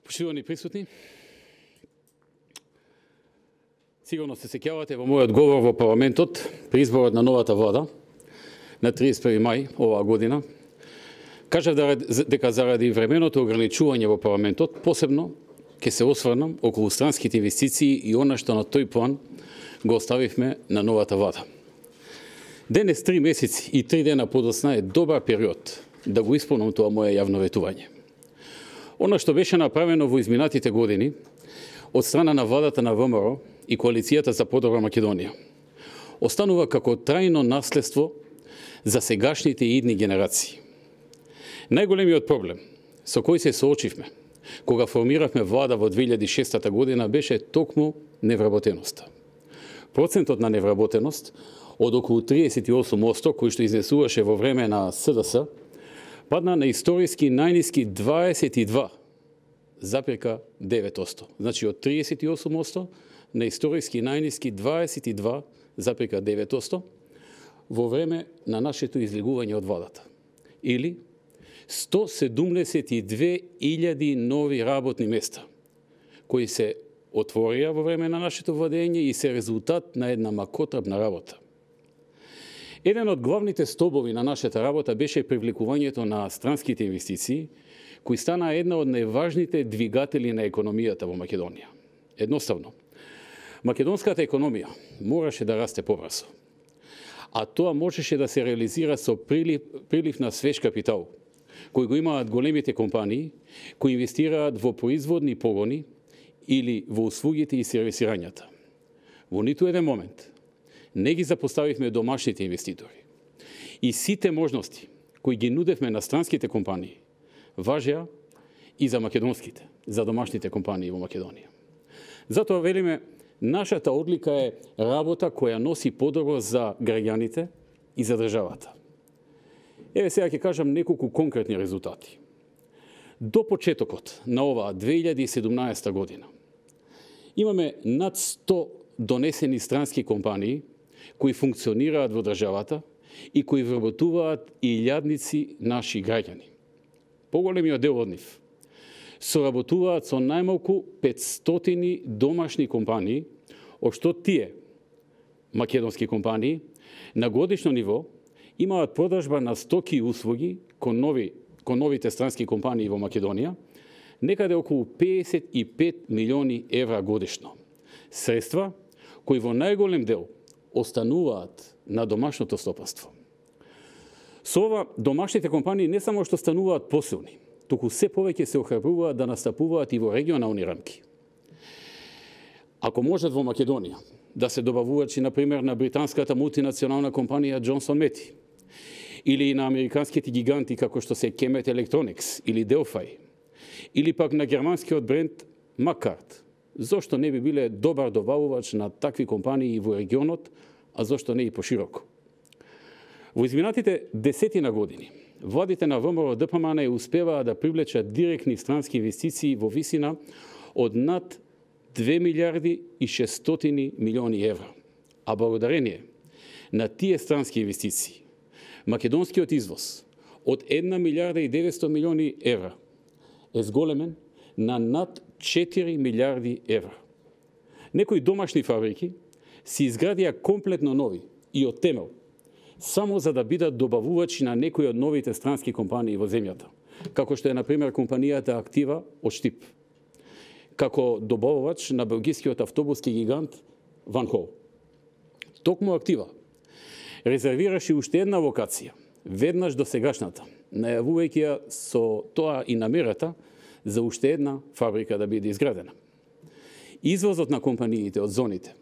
Почитувани присутни, сигурно се сеќавате во мојот говор во парламентот при изборот на новата влада на 31 мај оваа година. Кажав дека заради временото ограничување во парламентот, посебно ќе се осврнам околу странските инвестиции и она што на тој план го оставивме на новата влада. Денес 3 месеци и 3 дена подоцна е добар период да го исполнам тоа моје јавно ветување. Она што беше направено во изминатите години од страна на владата на ВМРО и Коалицијата за подобра Македонија останува како трајно наследство за сегашните и идни генерации. Најголемиот проблем со кој се соочивме кога формиравме влада во 2006 година беше токму невработеноста. Процентот на невработеност од околу 38% кој што изнесуваше во време на СДС падна на историски најниски 22,9%. Значи од 38% на историски најниски 22,9% во време на нашето излегување од владата. Или 172.000 нови работни места, кои се отворија во време на нашето владење и се резултат на една макотрапна работа. Еден од главните столбови на нашата работа беше привлекувањето на странските инвестиции, кои стана една од најважните двигатели на економијата во Македонија. Едноставно, македонската економија мораше да расте побрзо, а тоа можеше да се реализира со прилив на свеж капитал, кои го имаат големите компании, кои инвестираат во производни погони или во услугите и сервисирањата. Во ниту еден момент не ги запоставивме домашните инвеститори. И сите можности кои ги нудевме на странските компании важеа и за македонските, за домашните компании во Македонија. Затоа велиме, нашата одлика е работа која носи подобро за граѓаните и за државата. Еве сега ќе кажам неколку конкретни резултати. До почетокот на оваа 2017 година имаме над 100 донесени странски компании кои функционираат во државата и кои вработуваат илјадници наши граѓани. Поголемиот дел од нив соработуваат со најмалку 500 домашни компании, од што тие македонски компании на годишно ниво имаат продажба на стоки и услуги кон новите странски компании во Македонија, некаде околу 55 милиони евра годишно. Средства кои во најголем дел остануваат на домашното стопанство. Со ова, домашните компании не само што стануваат посилни, туку се повеќе се охрабруваат да настапуваат и во регионални рамки. Ако можат во Македонија да се добавувачи, например, на британската мултинационална компанија Johnson Matthey, или на американските гиганти како што се Kemet Electronics или Delphi, или пак на германскиот бренд Маккарт, зошто не би биле добар добавувач на такви компании во регионот, а зошто не и пошироко? Во изминатите десетина години, владите на ВМРО ДПМН успеваа да привлечат директни странски инвестиции во висина од над 2 милиарди и 600 милиони евра. А благодарение на тие странски инвестиции, македонскиот извоз од 1 милиарда и 900 милиони евра е зголемен на над 4 милиарди евра. Некои домашни фабрики се изградија комплетно нови и од темел, само за да бидат добавувачи на некои од новите странски компании во земјата, како што е, например, компанијата Актива од Штип, како добавувач на белгискиот автобуски гигант Ван Хол. Токму Актива резервираше уште една локација, веднаш до сегашната, најавувајќи ја со тоа и намерата за уште една фабрика да биде изградена. Извозот на компаниите од зоните,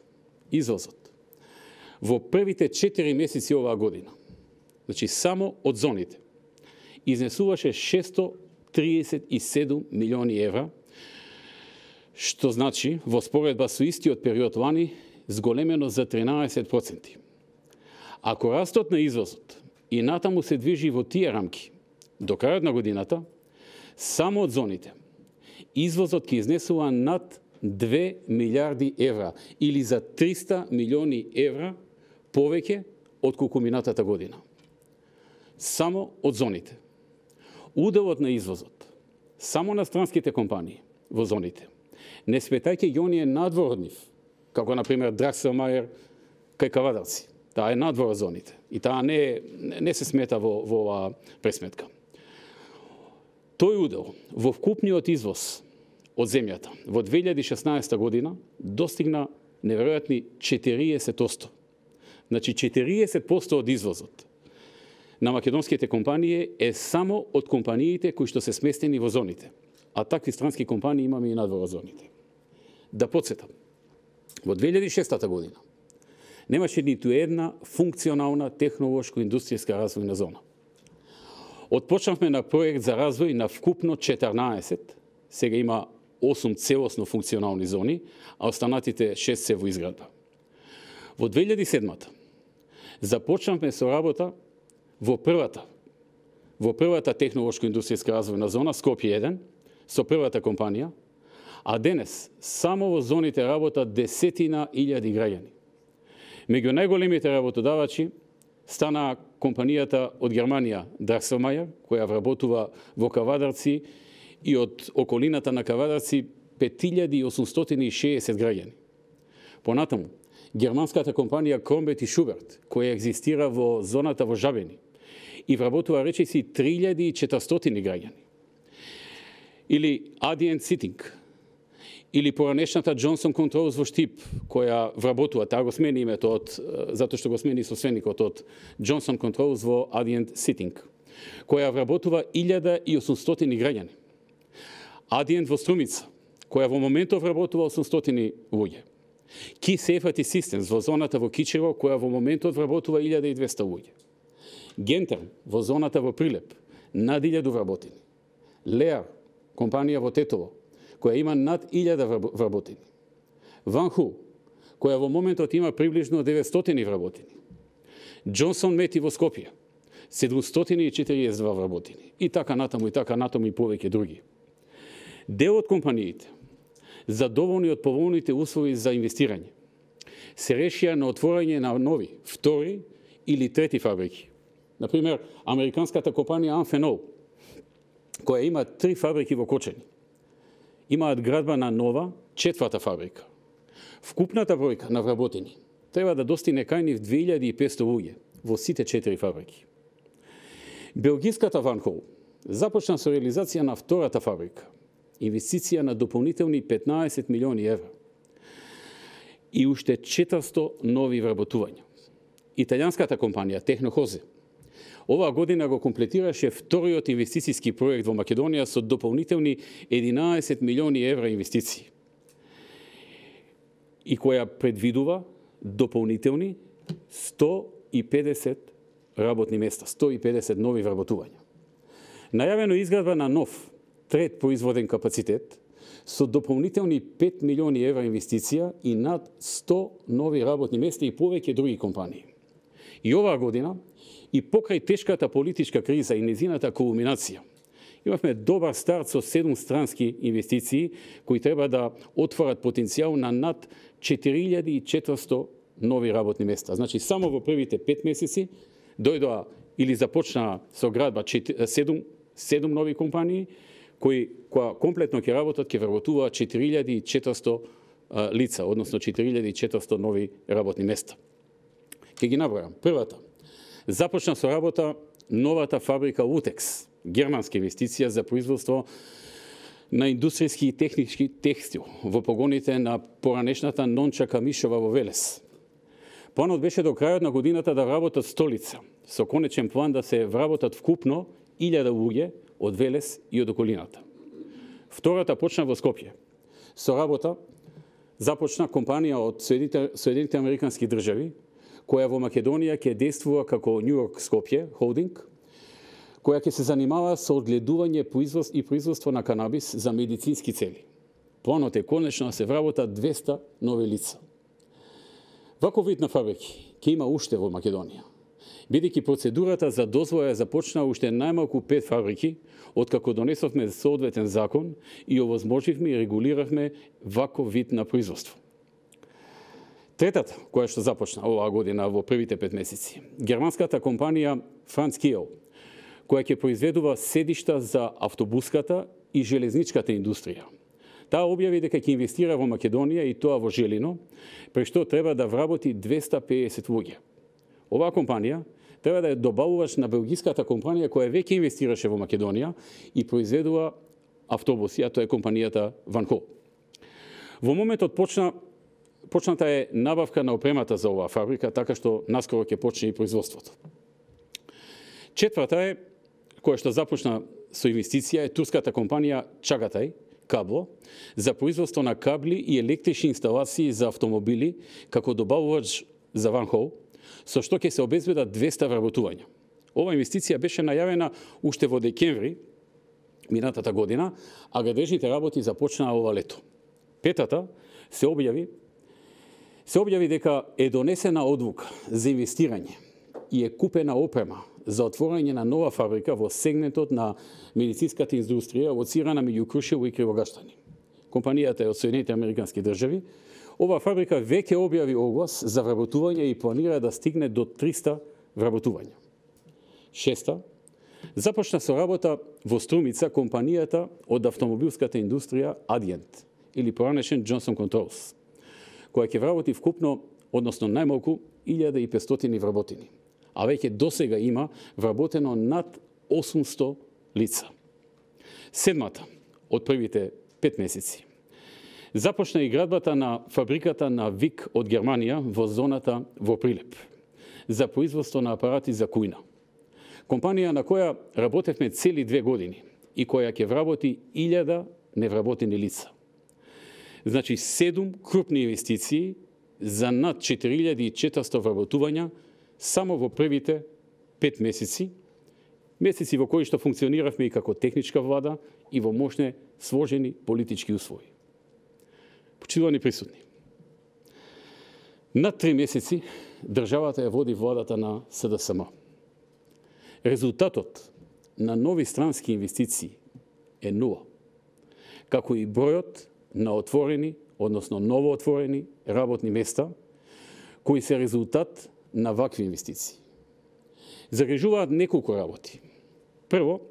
извозот во првите 4 месеци оваа година, значи само од зоните, изнесуваше 637 милиони евра, што значи во споредба со истиот период лани зголемено за 13%. Ако растот на извозот и натаму се движи во тие рамки, до крајот на годината, само од зоните, извозот ќе изнесува над 2 милиарди евра или за 300 милиони евра повеќе од колку минатата година. Само од зоните. Уделот на извозот само на странските компании во зоните. Не сметајќи ги оние надвор од нив, како на пример Дракселмајер кај Кавадарци. Таа е надвор од зоните и таа не се смета во оваа пресметка. Тој удел во вкупниот извоз од земјата во 2016 година достигна неверојатни 40%. Значи 40% од извозот на македонските компании е само од компаниите кои што се сместени во зоните. А такви странски компании имаме и надвор од зоните. Да подсетам, во 2006 година немаше ниту една функционална технолошко-индустријска развојна зона. Отпочнавме на проект за развој на вкупно 14, сега има 8 целосно функционални зони, а останатите 6 се во изградба. Во 2007 започнавме со работа во првата технолошко-индустријска развојна зона, Скопје 1, со првата компанија, а денес само во зоните работат десетина илјади граѓани. Меѓу најголемите работодавачи стана компанијата од Германија Дракселмајер, која вработува во Кавадарци и од околината на Кавадарци 5860 граѓани. Понатаму, германската компанија Кромбет и Шуберт, која екзистира во зоната во Жабени и вработува речиси 3400 граѓани. Или Adient Seating, или поранешната Johnson Controls во Штип, која вработува, таа го смени името затоа што го смени собственикот од Johnson Controls во Adient Seating, која вработува 1800 граѓани. Adient во Струмица, која во моментов вработува 800 луѓе. Key Safety Systems во зоната во Кичево, која во моментот вработува 1200 луѓе. Гентерм во зоната во Прилеп, над 1000 вработени. Леар, компанија во Тетово, која има над 1000 вработени. Ванху, која во моментот има приближно 900 вработени. Джонсон Мети во Скопје, 742 вработени. И така натаму и повеќе други. Дел од компаниите, задоволни од поволните услови за инвестирање, се решија на отворање на нови, втори или трети фабрики. Например, американската компанија Amphenol, која има 3 фабрики во Кочани, имаат градба на нова 4-та фабрика. Вкупната бројка на вработени треба да достигне кај нив 2500 луѓе во сите 4 фабрики. Белгиската Ванхол започна со реализација на втората фабрика, инвестиција на дополнителни 15 милиони евра и уште 400 нови вработувања. Италијанската компанија Технохозе оваа година го комплетираше вториот инвестицијски проект во Македонија со дополнителни 11 милиони евра инвестиции и која предвидува дополнителни 150 работни места, 150 нови вработувања. Најавено изградба на нов трет производен капацитет со дополнителни 5 милиони евра инвестиција и над 100 нови работни места и повеќе други компании. И оваа година, и покрај тешката политичка криза и незината кулминација, имавме добар старт со 7 странски инвестиции кои треба да отворат потенцијал на над 4400 нови работни места. Значи, само во првите 5 месеци дојдоа или започнаа со градба 7 нови компании, кои комплетно ќе работат, ќе вработуваат 4400 лица, односно 4400 нови работни места. Ќе ги набројам. Првата, започна со работа новата фабрика Лутекс, германска инвестиција за производство на индустријски и технички текстил во погоните на поранешната Нонча Камишова во Велес. Планот беше до крајот на годината да вработат 100 лица, со конечен план да се вработат вкупно 1000 луѓе од Велес и од околината. Втората почна во Скопје. Со работа започна компанија од Соединените Американски држави, која во Македонија ќе действува како New York Skopje Holding, која ќе се занимава со одгледување и производство на канабис за медицински цели. Планот е конечно да се вработат 200 нови лица. Ваков вид на фабрики ќе има уште во Македонија, бидејќи процедурата за дозвола започна уште најмалку 5 фабрики, откако донесовме соодветен закон и овозможивме и регулиравме ваков вид на производство. Третата, која што започна оваа година во првите 5 месеци, германската компанија Franz Kiel, која ќе произведува седишта за автобуската и железничката индустрија. Таа објави дека ќе инвестира во Македонија и тоа во Желино, при што треба да вработи 250 луѓе. Оваа компанија треба да е добавувач на белгиската компанија која веќе инвестираше во Македонија и произведува автобуси, а тоа е компанијата Ван Хол. Во моментот почната е набавка на опремата за оваа фабрика, така што наскоро ќе почне и производството. Четврта е, која што започна со инвестиција, е турската компанија Чагатай Кабло за производство на кабли и електрични инсталации за автомобили како добавувач за Ван Хол, со што ќе се обезбедат 200 вработувања. Ова инвестиција беше најавена уште во декември минатата година, а градежните работи започнаа ова лето. Петата се објави дека е донесена одлука за инвестирање и е купена опрема за отворање на нова фабрика во сегментот на медицинската индустрија лоцирана меѓу Крушево и Кривогаштани. Компанијата е од Соединетите Американски држави. Оваа фабрика веќе објави оглас за вработување и планира да стигне до 300 вработувања. Шеста, започна со работа во Струмица компанијата од автомобилската индустрија Adient или поранешен Johnson Controls, која ќе вработи вкупно, односно најмалку 1500 вработени, а веќе досега има вработено над 800 лица. Седмата, од првите 5 месеци, започна и градбата на фабриката на ВИК од Германија во зоната во Прилеп за производство на апарати за кујна. Компанија на која работевме цели 2 години и која ќе вработи 1000 невработени лица. Значи 7 крупни инвестиции за над 4400 вработувања само во првите 5 месеци во кои што функциониравме и како техничка влада и во мощне сложени политички услови. Почитувани присутни, над 3 месеци државата ја води владата на СДСМ. Резултатот на нови странски инвестиции е нула, како и бројот на отворени, односно новоотворени работни места, кои се резултат на вакви инвестиции. Загрижуваат неколку работи. Прво,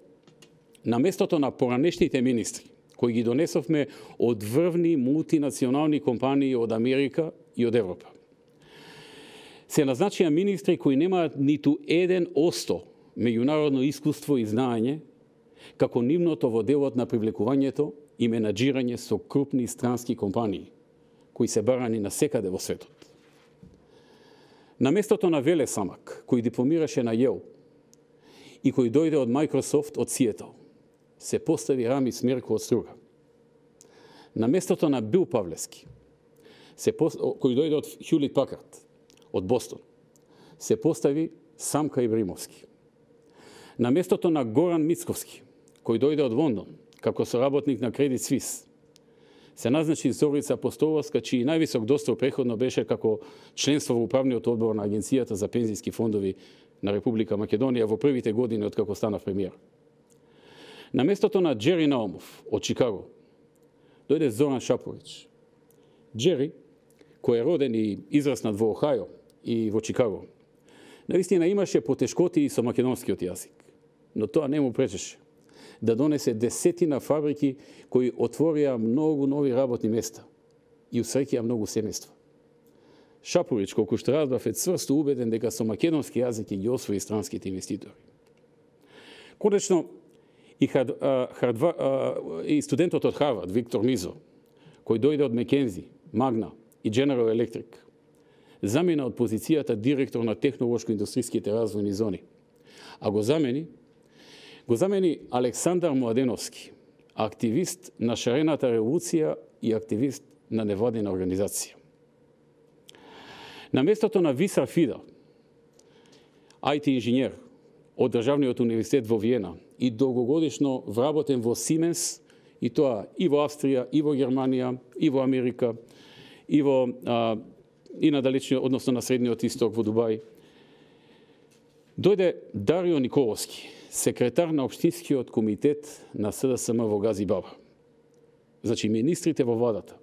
на местото на поранешните министри, кои ги донесовме од врвни мултинационални компании од Америка и од Европа, се назначија министри кои немаат ниту 1% меѓународно искуство и знаење, како нивното во делот на привлекувањето и менаџирање со крупни странски компании, кои се барани на секаде во светот. На местото на Веле Самак, кој дипломираше на Јел и кој дојде од Microsoft од Сиетл, се постави Рами Смерко од Струга. На местото на Бил Павлески, кој дојде од Хјулит Пакард, од Бостон, се постави Самка Ибримовски. На местото на Горан Мицковски, кој дојде од Лондон, како соработник на Credit Suisse, се назначи Зорица Апостоловска, чиј највисок достиг преходно беше како членство во управниот одбор на Агенцијата за пензиски фондови на Република Македонија во првите години од како станав премиер. На местото на Джери Наумов од Чикаго дојде Зоран Шапович. Джери, кој е роден и израснат во Охајо и во Чикаго, наистина имаше потешкоти и со македонскиот јазик, но тоа не му пречеше да донесе десетина фабрики кои отворија многу нови работни места и усреќија многу семејства. Шапорич, колку што разбрав, е цврсто убеден дека со македонски јазик ги освои странските инвеститори. Конечно, и студентот од Харвард, Виктор Мизо, кој дојде од Макензи, Магна и General Electric, замена од позицијата директор на технолошко-индустриските развојни зони, а го замени Александар Младеновски, активист на шарената револуција и активист на невладина организација. На местото на Висар Фида, IT инженер од Државниот универзитет во Виена и долгогодишно вработен во Сименс, и тоа и во Австрија, и во Германија, и во Америка, и на далечниот, односно на Средниот Исток во Дубај. Дојде Дарио Николовски, секретар на Општинскиот комитет на СДСМ во Гази Баба. Значи, министрите во владата,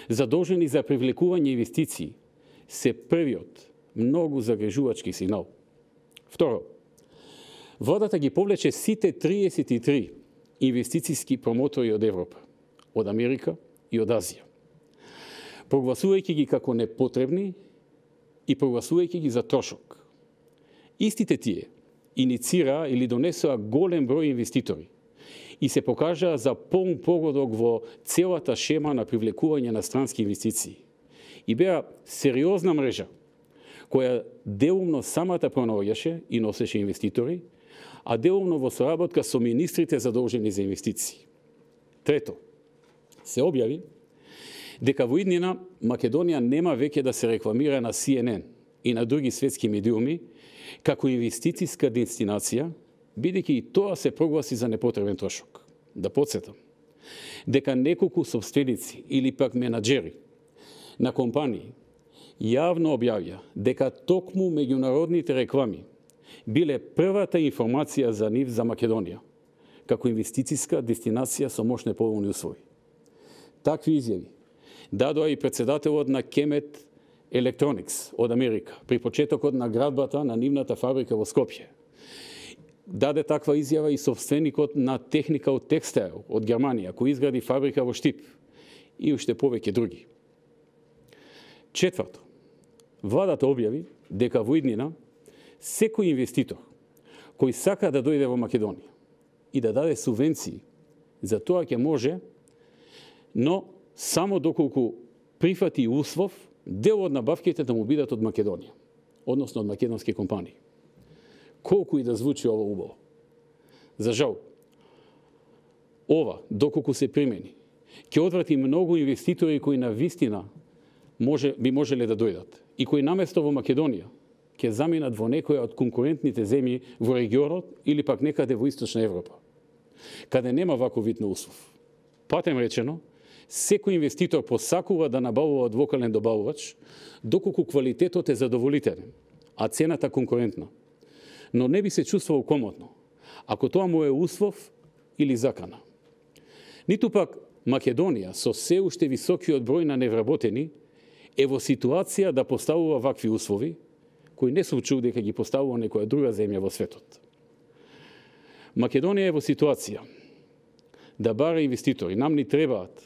задолжени за привлекување инвестиции, се првиот многу загрижувачки сигнал. Второ, владата ги повлече сите 33 инвестицијски промотори од Европа, од Америка и од Азија. Прогласувајќи ги како непотребни и прогласувајќи ги за трошок. Истите тие иницираа или донесоа голем број инвеститори и се покажаа за полн погодок во целата шема на привлекување на странски инвестиции. И беа сериозна мрежа, која делумно самата пронаоѓаше и носеше инвеститори, а делумно во соработка со министрите задолжени за инвестиции. Трето, се објави дека во иднина Македонија нема веќе да се рекламира на CNN и на други светски медиуми како инвестициска дестинација, бидејќи и тоа се прогласи за непотребен трошок. Да подсетам, дека неколку сопственици или пак менаџери на компании јавно објавија дека токму меѓународните реклами биле првата информација за нив за Македонија, како инвестициска дестинација со мощни поволни услови. Такви изјави дадоа и председателот на Kemet Electronics од Америка при почетокот на градбата на нивната фабрика во Скопје. Даде таква изјава и собственикот на Technical Textile од Германија, кој изгради фабрика во Штип, и уште повеќе други. Четврто, владата објави дека во иднина секој инвеститор кој сака да дојде во Македонија и да даде субвенции, за тоа ќе може, но само доколку прифати услов дел од набавките да му бидат од Македонија, односно од македонски компании. Колку и да звучи ова убаво. За жал, ова, доколку се примени, ќе одврати многу инвеститори кои на вистина би можеле да дојдат и кои наместо во Македонија ќе заминат во некоја од конкурентните земји во регионот или пак некаде во Источна Европа, каде нема ваков вид на услов. Патем речено, секој инвеститор посакува да набавува од локален добавувач, доколку квалитетот е задоволителен, а цената конкурентна. Но не би се чувствувал комотно, ако тоа му е услов или закана. Ниту пак Македонија со се уште високиот број на невработени е во ситуација да поставува вакви услови, кои не случува дека ги поставува некоја друга земја во светот. Македонија е во ситуација да бара инвеститори, нам ни требаат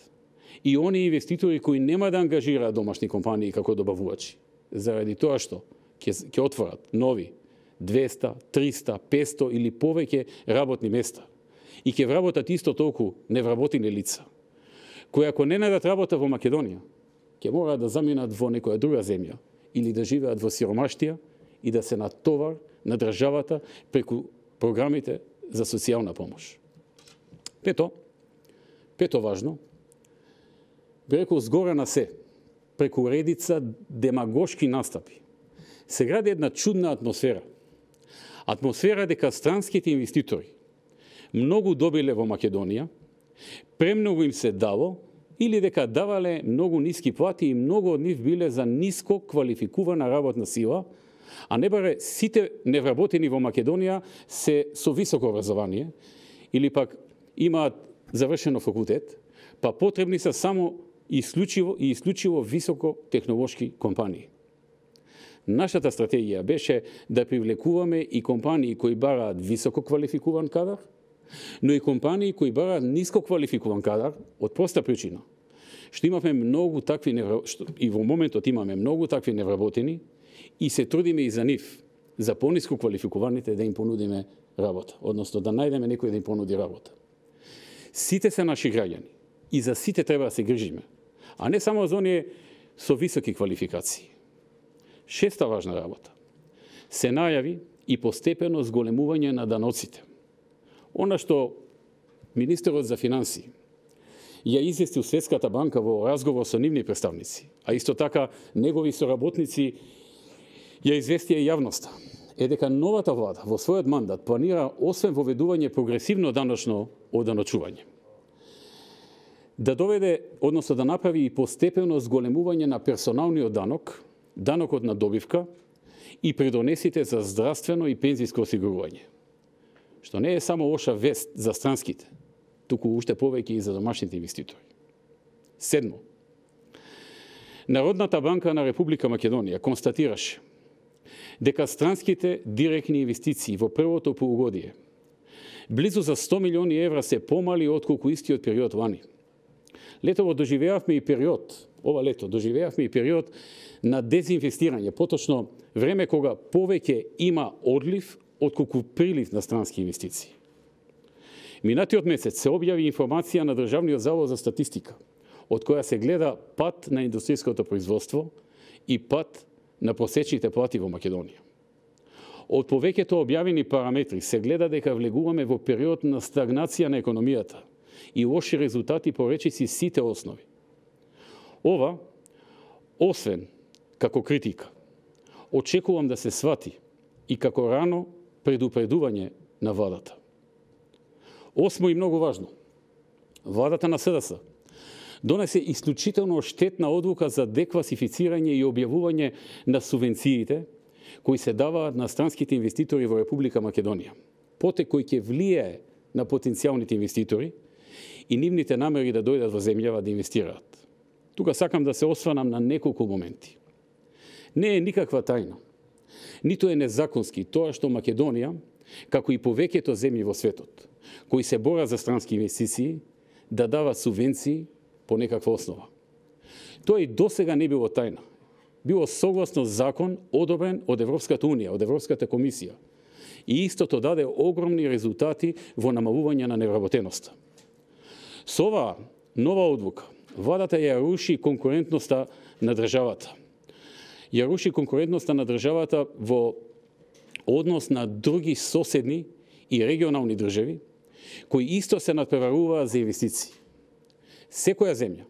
и они инвеститори кои нема да ангажираат домашни компании како добавувачи, заради тоа што ќе отворат нови 200, 300, 500 или повеќе работни места и ќе вработат исто толку невработени лица, кои ако не најдат работа во Македонија, ќе мораат да заминат во некоја друга земја или да живеат во сиромаштија и да се натовар на државата преку програмите за социјална помош. Пето важно, би рекол згора на се, преку редица демагошки настапи, се гради една чудна атмосфера. Атмосфера дека странските инвеститори многу добиле во Македонија, премногу им се дало, или дека давале многу ниски плати и многу од нив биле за ниско квалификувана работна сила, а не баре сите невработени во Македонија се со високо образование или пак имаат завршено факултет, па потребни се само исклучиво високо технолошки компании. Нашата стратегија беше да привлекуваме и компании кои бараат високо квалификуван кадар, но и компании кои бараат ниско квалификуван кадар од проста причина што имаме многу такви и во моментот имаме многу такви невработени и се трудиме и за нив, за пониско квалификуваните да им понудиме работа, односно да најдеме некој да им понуди работа. Сите се наши граѓани и за сите треба да се грижиме, а не само за оние со високи квалификации. Шеста важна работа. Се најави и постепено зголемување на даноците. Она што министерот за финансии ја извести Светската банка во разговор со нивни представници, а исто така негови соработници ја известија јавноста, е дека новата влада во својот мандат планира освен воведување прогресивно даночно оданочување, да доведе, односно да направи и постепено зголемување на персоналниот данок, данокот на добивка и придонесите за здравствено и пензиско осигурување, што не е само лоша вест за странските, туку уште повеќе и за домашните инвеститори. Седмо, Народната банка на Република Македонија констатираше дека странските директни инвестиции во првото полугодие близу за 100 милиони евра се помали отколку истиот период лани, Летово доживеавме и период, ова лето доживеавме и период на дезинвестирање, поточно време кога повеќе има одлив отколку прилив на странски инвестиции. Минатиот месец се објави информација на Државниот завод за статистика, од која се гледа пат на индустријското производство и пат на просечните плати во Македонија. Од повеќето објавени параметри се гледа дека влегуваме во период на стагнација на економијата и лоши резултати по речиси сите основи. Ова, освен како критика, очекувам да се свати и како рано предупредување на владата. Осмо и многу важно, владата на СДС донесе исклучително штетна одлука за декласифицирање и објавување на субвенциите кои се даваат на странските инвеститори во Република Македонија. Потек кој ќе влијае на потенцијалните инвеститори и нивните намери да дојдат во земјава да инвестираат. Тука сакам да се осванам на неколку моменти. Не е никаква тајна, ниту е незаконски тоа што Македонија, како и повеќето земји во светот, кои се борат за странски инвестиции, да дава субвенции по некаква основа. Тоа и досега не било тајна. Било согласно закон одобрен од Европската Унија, од Европската комисија. И истото даде огромни резултати во намалување на невработеноста. Со оваа нова одлука, владата ја руши конкурентноста на државата. Ја руши конкурентноста на државата во однос на други соседни и регионални држави, кои исто се надпреваруваат за инвестиции. Секоја земја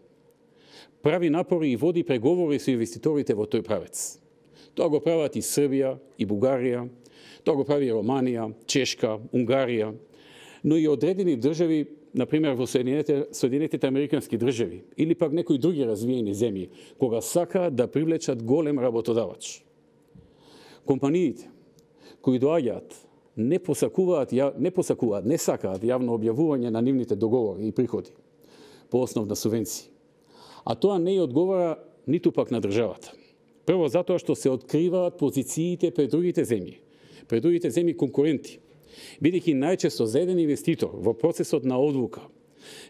прави напори и води преговори со инвеститорите во тој правец. Тоа го прават и Србија, и Бугарија, тоа го прави и Романија, Чешка, Унгарија, но и одредени држави, например во Соединетите Американски држави или пак некои други развиени земји, кога сакаат да привлечат голем работодавач. Компаниите кои доаѓаат не сакаат јавно објавување на нивните договори и приходи по основ на субвенции. А тоа не ја одговара ниту пак на државата. Прво затоа што се откриваат позициите пред другите земји конкуренти, бидејќи најчесто за еден инвеститор во процесот на одлука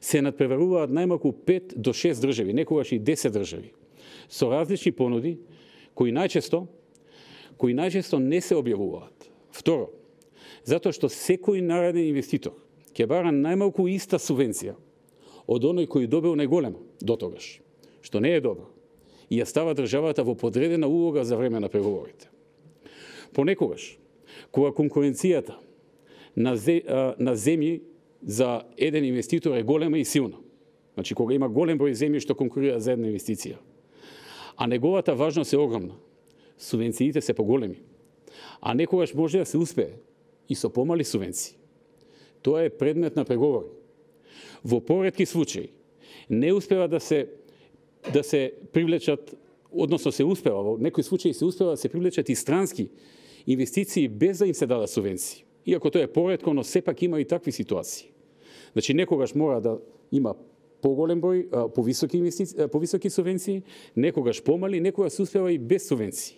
се надпреваруваат најмалку 5 до 6 држави, некогаш и 10 држави, со различни понуди кои најчесто не се објавуваат. Второ, затоа што секој нареден инвеститор ќе бара најмалку иста субвенција од оној кој добил најголема дотогаш, што не е добро, и ја става државата во подредена улога за време на преговорите. Понекогаш, кога конкуренцијата на земји за еден инвеститор е голема и силна, значи кога има голем број земји што конкурираат за една инвестиција, а неговата важност е огромна, субвенциите се поголеми, а некогаш може да се успее и со помали субвенции. Тоа е предмет на преговори. Во поретки случаи не успева да се привлечат, односно се успева, во некои случаи се успева да се привлечат и странски инвестиции без да им се дадат субвенции. Иако тоа е поретко, но сепак има и такви ситуации. Значи некогаш мора да има поголем број, повисоки субвенции, некогаш помали, некогаш се успева и без субвенции.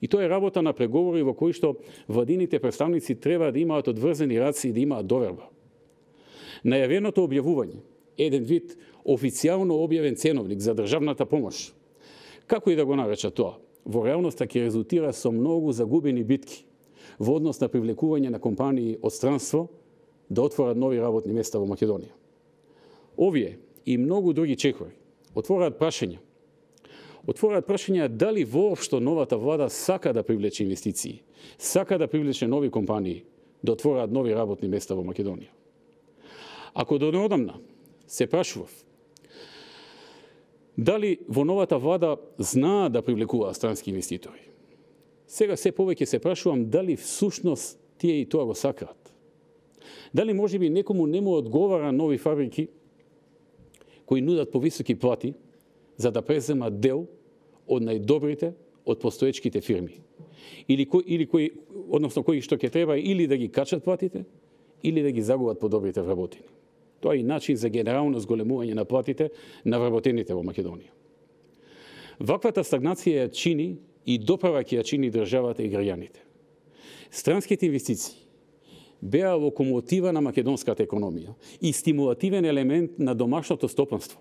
И тоа е работа на преговори во кои што владините представници треба да имаат одврзени раци и да имаат доверба. Најавеното објавување, еден вид официјално објавен ценовник за државната помош, како и да го нареча тоа, во реалноста ќе резултира со многу загубени битки во однос на привлекување на компании од странство да отворат нови работни места во Македонија. Овие и многу други чекори отвораат прашања дали воопшто новата влада сака да привлече инвестиции, сака да привлече нови компании да отвораат нови работни места во Македонија. Ако до неодамна се прашував дали во новата влада знаат да привлекуваат странски инвеститори, сега се повеќе се прашувам дали всушност тие и тоа го сакаат. Дали можеби некому не му одговара нови фабрики кои нудат повисоки плати за да преземат дел од најдобрите од постоечките фирми. Или кои што ќе треба или да ги качат платите, или да ги загубат подобрите вработени. Тоа е и начин за генерално зголемување на платите на вработените во Македонија. Ваквата стагнација ја чини и допаваќе ја чини државата и граѓаните. Странските инвестиции беа локомотива на македонската економија и стимулативен елемент на домашното стопанство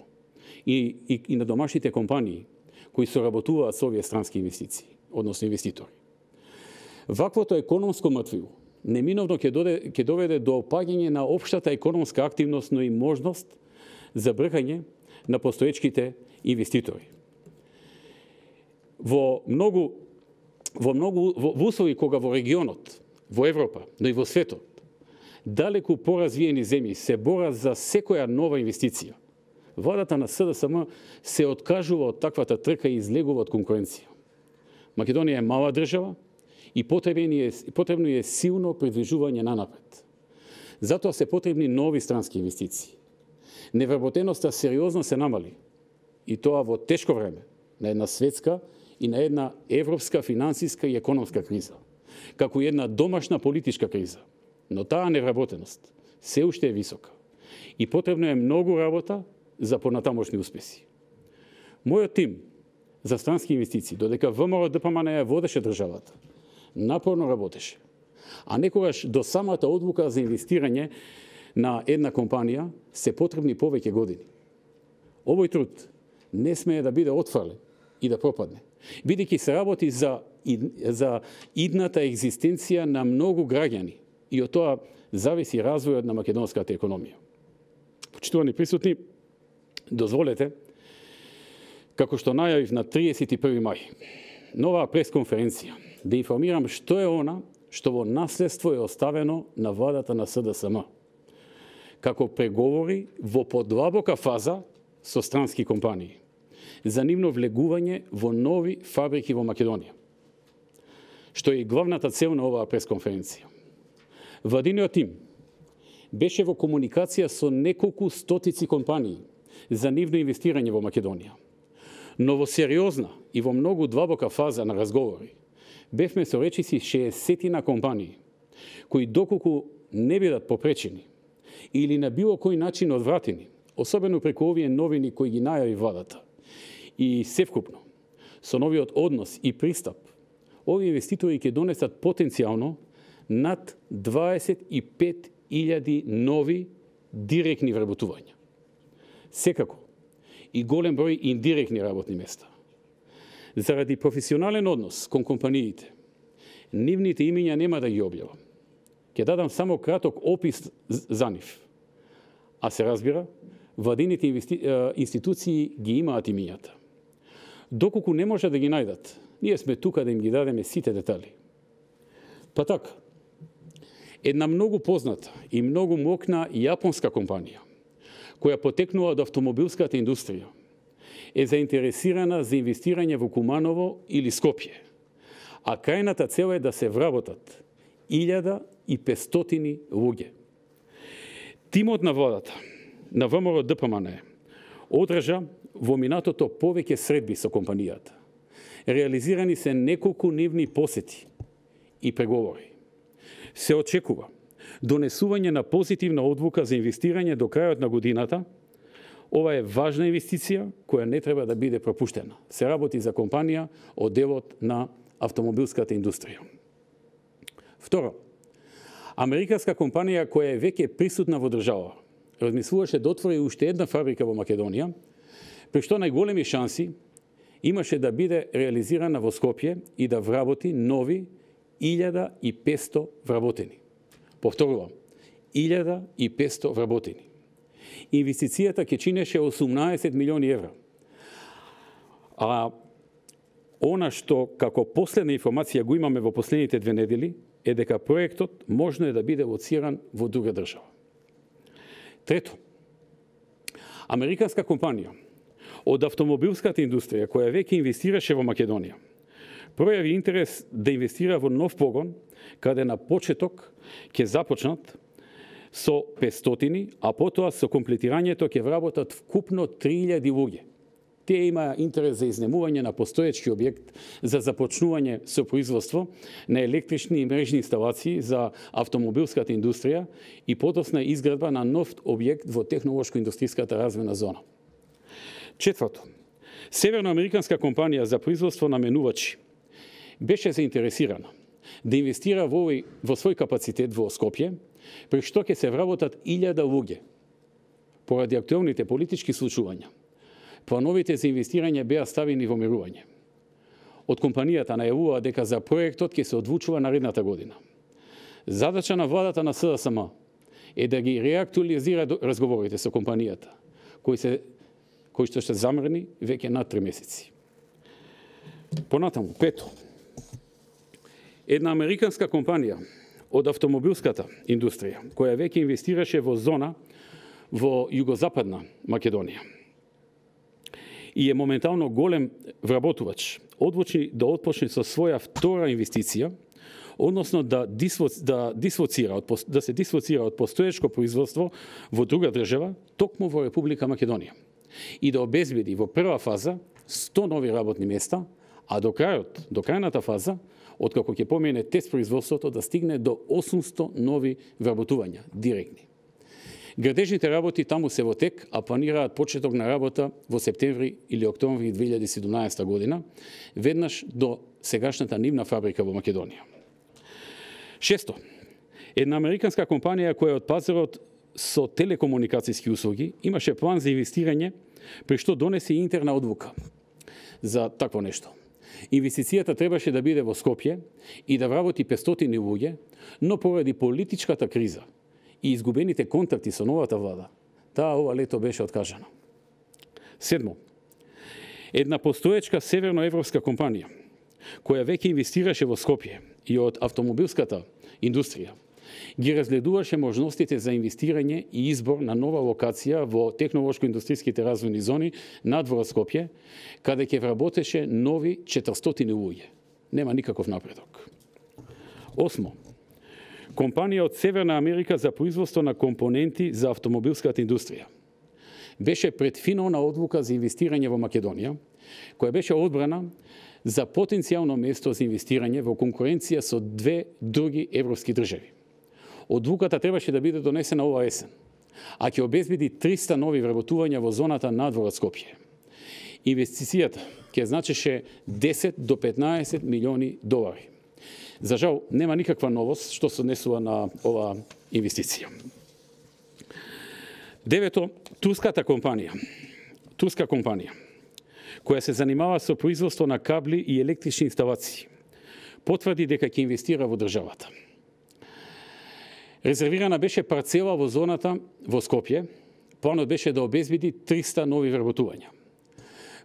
и на домашните компании кои соработуваат со овие странски инвестиции, односно инвеститори. Ваквото економско мртвило неминовно ќе доведе до опаѓање на општата економска активност, но и можност за бркање на постоечките инвеститори. Во услови кога во регионот, во Европа, но и во светот, далеку поразвиени земји се борат за секоја нова инвестиција, владата на СДСМ се откажува од таквата трка и излегува од конкуренција. Македонија е мала држава и потребно е силно придвижување нанапред. Затоа се потребни нови странски инвестиции. Невработеноста сериозно се намали, и тоа во тешко време на една светска и на една европска финансиска и економска криза, како и една домашна политичка криза. Но таа невработеност се уште е висока и потребно е многу работа за понатамошни успеси. Мојот тим за странски инвестиции, додека ВМРО-ДПМН ја водеше државата, напорно работеше, а некогаш до самата одлука за инвестирање на една компанија се потребни повеќе години. Овој труд не смее да биде отфрлен и да пропадне, бидејќи се работи за идната екзистенција на многу граѓани и од тоа зависи развојот на македонската економија. Почитувани присутни, дозволете, како што најавив на 31. мај, нова пресконференција, да информирам што е она што во наследство е оставено на владата на СДСМ, како преговори во подлабока фаза со странски компании за нивно влегување во нови фабрики во Македонија, што е и главната цел на оваа пресконференција. Владиниот тим беше во комуникација со неколку стотици компании за нивно инвестирање во Македонија. Но во сериозна и во многу длабока фаза на разговори бевме со речиси 60 компании, кои доколку не бидат попречени или на било кој начин одвратени, особено преку овие новини кои ги најави владата, и севкупно, со новиот однос и пристап, овие инвеститори ќе донесат потенцијално над 25.000 нови директни вработувања. Секако, и голем број индиректни работни места. Заради професионален однос кон компаниите, нивните имиња нема да ги објавам. Ќе дадам само краток опис за нив. А се разбира, владините институции ги имаат имињата. Доколку не може да ги најдат, ние сме тука да им ги дадеме сите детали. Па така, една многу позната и многу мокна јапонска компанија, која потекнува од автомобилската индустрија, е заинтересирана за инвестирање во Куманово или Скопје, а крајната цел е да се вработат 1500 луѓе. Тимот на владата на ВМРО-ДПМН одржа во минатото повеќе средби со компанијата. Реализирани се неколку нивни посети и преговори. Се очекува донесување на позитивна одлука за инвестирање до крајот на годината. Ова е важна инвестиција која не треба да биде пропуштена. Се работи за компанија од делот на автомобилската индустрија. Второ, американска компанија која е веќе присутна во држава, размислуваше да отвори уште една фабрика во Македонија, при што најголеми шанси имаше да биде реализирана во Скопје и да вработи нови 1500 вработени. Повторувам, 1500 вработени. Инвестицијата ќе чинеше 18 милиони евра. А она што како последна информација го имаме во последните 2 недели е дека проектот можно е да биде лоциран во друга држава. Трето, американска компанија од автомобилската индустрија која веќе инвестираше во Македонија, пројави интерес да инвестира во нов погон, каде на почеток ќе започнат со 500, а потоа со комплетирањето ќе вработат вкупно 3000 луѓе. Тие има интерес за изнемување на постоечки објект за започнување со производство на електрични и мрежни инсталации за автомобилската индустрија и подосна изградба на нов објект во технолошко-индустријската развојна зона. Четврто, северноамериканска компанија за производство на менувачи беше заинтересирана да инвестира во свој капацитет во Скопје, при што ќе се вработат 1000 луѓе. Поради актуелните политички случувања, плановите за инвестирање беа ставени во мирување. Од компанијата најавува дека за проектот ќе се одлучува наредната година. Задача на владата на СДСМ е да ги реактуализира разговорите со компанијата, кои што се замрени веќе над 3 месеци. Понатаму, пето. Една американска компанија од автомобилската индустрија, која веќе инвестираше во зона во југозападна Македонија и е моментално голем вработувач, одлучи да отпочне со своја втора инвестиција, односно да се дислоцира од постоечко производство во друга држава, токму во Република Македонија, и да обезбеди во прва фаза 100 нови работни места, а до крајната фаза, откако ќе помине тест производството, да стигне до 800 нови вработувања директни. Градежните работи таму се во тек, а планираат почеток на работа во септември или октомври 2017 година, веднаш до сегашната нивна фабрика во Македонија. Шесто. Една американска компанија која од пазарот со телекомуникацијски услуги имаше план за инвестирање, при што донесе интерна одлука за такво нешто. Инвестицијата требаше да биде во Скопје и да вработи 500 луѓе, но поради политичката криза и изгубените контакти со новата влада, таа ова лето беше откажана. Седмо. Една постоечка северноевропска компанија, која веќе инвестираше во Скопје и од автомобилската индустрија, ги разгледуваше можностите за инвестирање и избор на нова локација во технолошко-индустријските развојни зони надвор Скопје, каде ќе вработеше нови 400 луѓе. Нема никаков напредок. Осмо. Компанија од Северна Америка за производство на компоненти за автомобилската индустрија. Беше пред финална одлука за инвестирање во Македонија, која беше одбрана за потенцијално место за инвестирање во конкуренција со 2 други европски држави. Одлуката требаше да биде донесена ова есен, а ќе обезбеди 300 нови вработувања во зоната надвор од Скопје. Инвестицијата ќе значеше 10 до 15 милиони долари. За жал, нема никаква новост што се однесува на ова инвестиција. Девето, турска компанија, која се занимава со производство на кабли и електрични инсталации, потврди дека ќе инвестира во државата. Резервирана беше парцела во зоната во Скопје, планот беше да обезбеди 300 нови вработувања.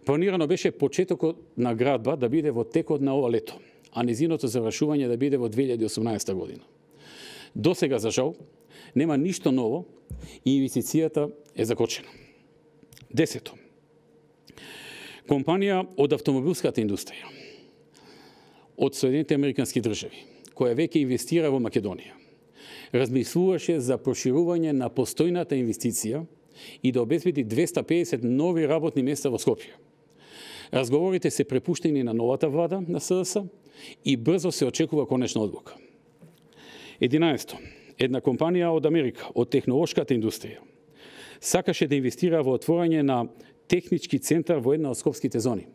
Планирано беше почетокот на градба да биде во текот на ова лето, а незиното завршување да биде во 2018 година. До сега, за жал, нема ништо ново и инвестицијата е закочена. Десето. Компанија од автомобилската индустрија од Соединените Американски држави, која веќе инвестира во Македонија, размислуваше за проширување на постојната инвестиција и да обезбеди 250 нови работни места во Скопје. Разговорите се препуштени на новата влада на СДС и брзо се очекува конечна одлука. 11. Една компанија од Америка, од технолошката индустрија, сакаше да инвестира во отворање на технички центар во една од скопските зони.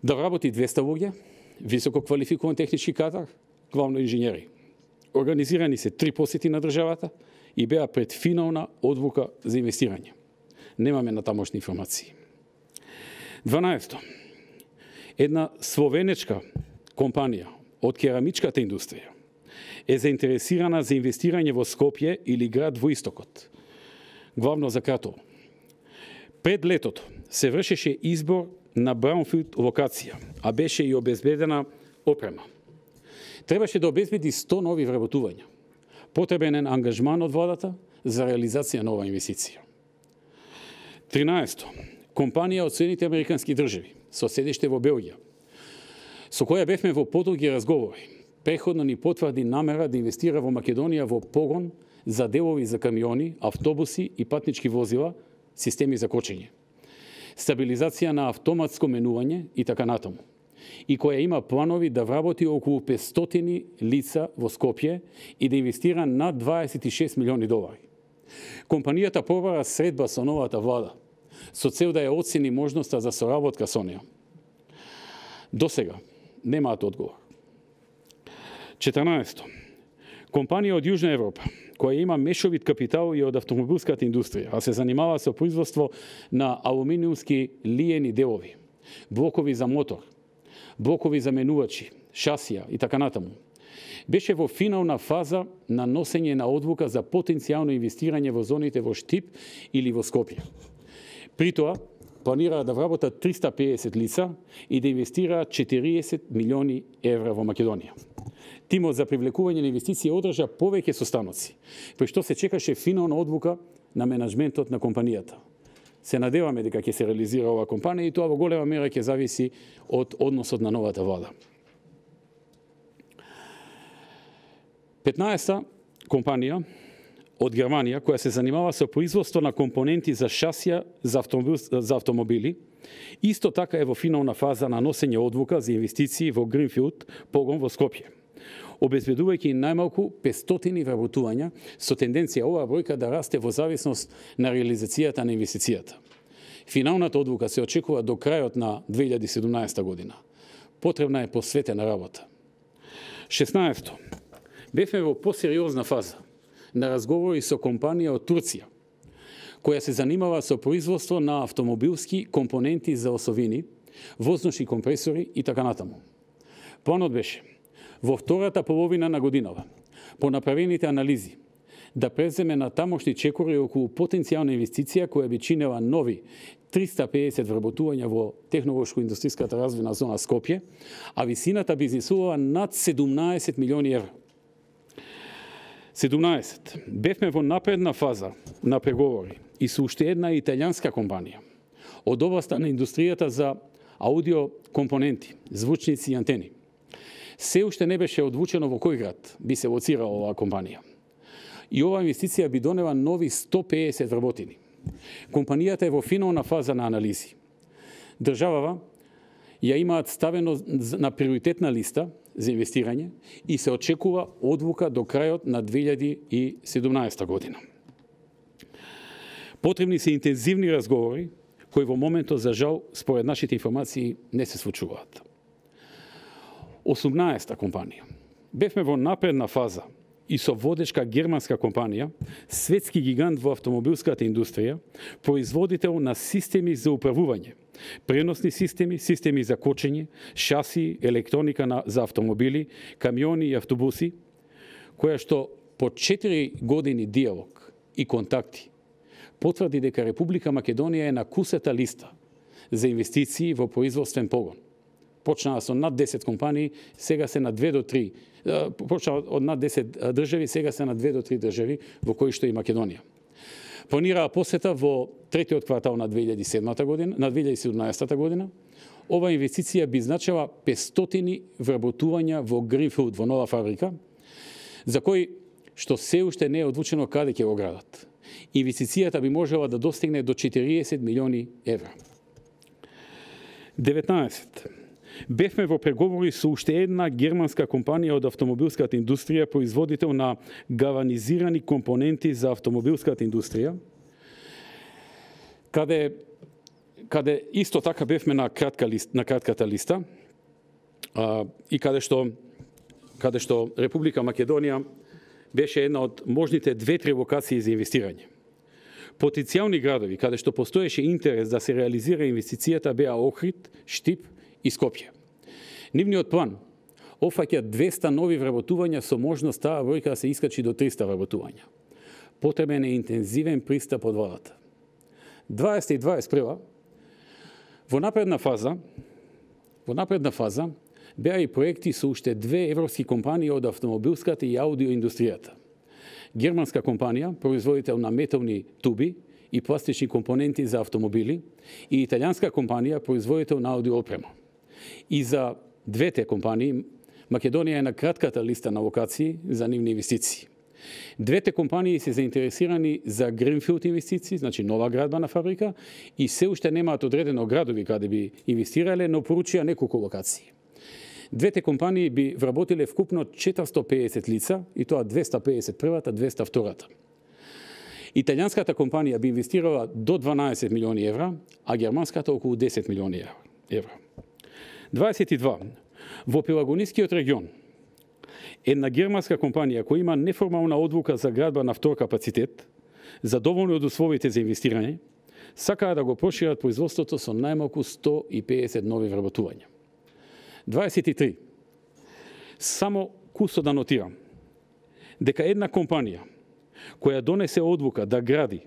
Да вработи 200 луѓе, високо квалификуван технички кадар, главно инженери. Организирани се 3 посети на државата и беа пред финална одлука за инвестирање. Немаме натамошни информации. 12. Една словенечка компанија од керамичката индустрија е заинтересирана за инвестирање во Скопје или град во истокот, главно за Кратово. Пред летото се вршеше избор на браунфилд локација, а беше и обезбедена опрема. Требаше да обезбеди 100 нови вработувања. Потребен е ангажман од владата за реализација на оваа инвестиција. 13. Компанија од Соединените Американски држави со седиште во Белгија, со која бевме во подолги разговори, преходно ни потврди намера да инвестира во Македонија во погон за делови за камиони, автобуси и патнички возила, системи за кочење, стабилизација на автоматско менување и така натаму, и која има планови да вработи околу 500 лица во Скопје и да инвестира над 26 милиони долари. Компанијата побара средба со новата влада, со цел да ја оцени можноста за соработка со неја. До сега немаат одговор. 14. Компанија од Јужна Европа, која има мешовит капитал и од автомобилската индустрија, а се занимава со производство на алуминиумски лиени делови, блокови за мотор, блокови за менувачи, шасија и така натаму, беше во финална фаза на носење на одлука за потенцијално инвестирање во зоните во Штип или во Скопје. При тоа, планираат да вработат 350 лица и да инвестираат 40 милиони евра во Македонија. Тимот за привлекување на инвестиции одржа повеќе состаноци, при што се чекаше финална одлука на менаџментот на компанијата. Се надеваме дека ќе се реализира оваа компанија и тоа во голема мера ќе зависи од односот на новата влада. 15-та компанија од Германија, која се занимава со производство на компоненти за шасија за автомобили, исто така е во финална фаза на носење одлука за инвестиции во Гринфилд погон во Скопје, обезбедувајќи најмалку 500 вработувања со тенденција оваа бројка да расте во зависност на реализацијата на инвестицијата. Финалната одлука се очекува до крајот на 2017 година. Потребна е посветена работа. 16-то. Бевме во посериозна фаза на разговори со компанија од Турција, која се занимава со производство на автомобилски компоненти за осовини, воздушни компресори и така натаму. Планот беше во втората половина на годинава, по направените анализи, да преземе на тамошни чекори околу потенцијална инвестиција која би чинела нови 350 вработувања во технолошко-индустријската развојна зона Скопје, а висината би изнесувала над 17 милиони евра. 17. Бевме во напредна фаза на преговори и со уште една италијанска компанија од областа на индустријата за аудио компоненти, звучници и антени. Се уште не беше одлучено во кој град би се лоцирала оваа компанија. И оваа инвестиција би донела нови 150 вработени. Компанијата е во финална фаза на анализи. Државава ја имаат ставено на приоритетна листа за инвестирање и се очекува одлука до крајот на 2017 година. Потребни се интензивни разговори, кои во моментот, за жал, според нашите информации, не се случуваат. 18-та компанија. Бевме во напредна фаза и со водечка германска компанија, светски гигант во автомобилската индустрија, производител на системи за управување, преносни системи, системи за кочење, шаси, електроника за автомобили, камиони и автобуси, која што по 4 години диалог и контакти потврди дека Република Македонија е на кусата листа за инвестиции во производствен погон. Почнаа со над 10 компании, сега се на 2 до 3. Почнаа од над 10 држави, сега се на 2 до 3 држави, во кои што и Македонија. Планираа посета во третиот квартал на 2017 година. Ова инвестиција би значила 500 вработувања во Гринфилд, во нова фабрика, за кој што се уште не е одлучено каде ќе го градат. Инвестицијата би можела да достигне до 40 милиони евра. 19. Бевме во преговори со уште една германска компанија од автомобилската индустрија, производител на галванизирани компоненти за автомобилската индустрија, каде исто така бевме на кратката листа и каде што Република Македонија беше една од можните 2-3 локации за инвестирање. Потенцијални градови каде што постоеше интерес да се реализира инвестицијата беа Охрид, Штип и Скопје. Нивниот план офаќа 200 нови вработувања со можност таа бројка да се искачи до 300 вработувања. Потребен е интензивен пристап од владата. 20 и 21 во напредна фаза беа и проекти со уште 2 европски компании од автомобилската и аудиоиндустријата. Германска компанија, производител на метални туби и пластични компоненти за автомобили, и италијанска компанија, производител на аудиоопрема. И за двете компании, Македонија е на кратката листа на локации за нивни инвестиции. Двете компании се заинтересирани за Гринфилд инвестиции, значи нова градба на фабрика, и се уште немаат одредено градови каде би инвестирале, но поручија неколку локации. Двете компании би вработиле вкупно 450 лица, и тоа 250 првата, 200 втората. Италијанската компанија би инвестирала до 12 милиони евра, а германската околу 10 милиони евра. 22. Во Пелагонискиот регион Една германска компанија која има неформална одлука за градба на втор капацитет, задоволни од условите за инвестирање, сакаа да го прошират производството со најмалку 150 нови вработувања. 23. Само кусо да нотирам дека една компанија која донесе одлука да гради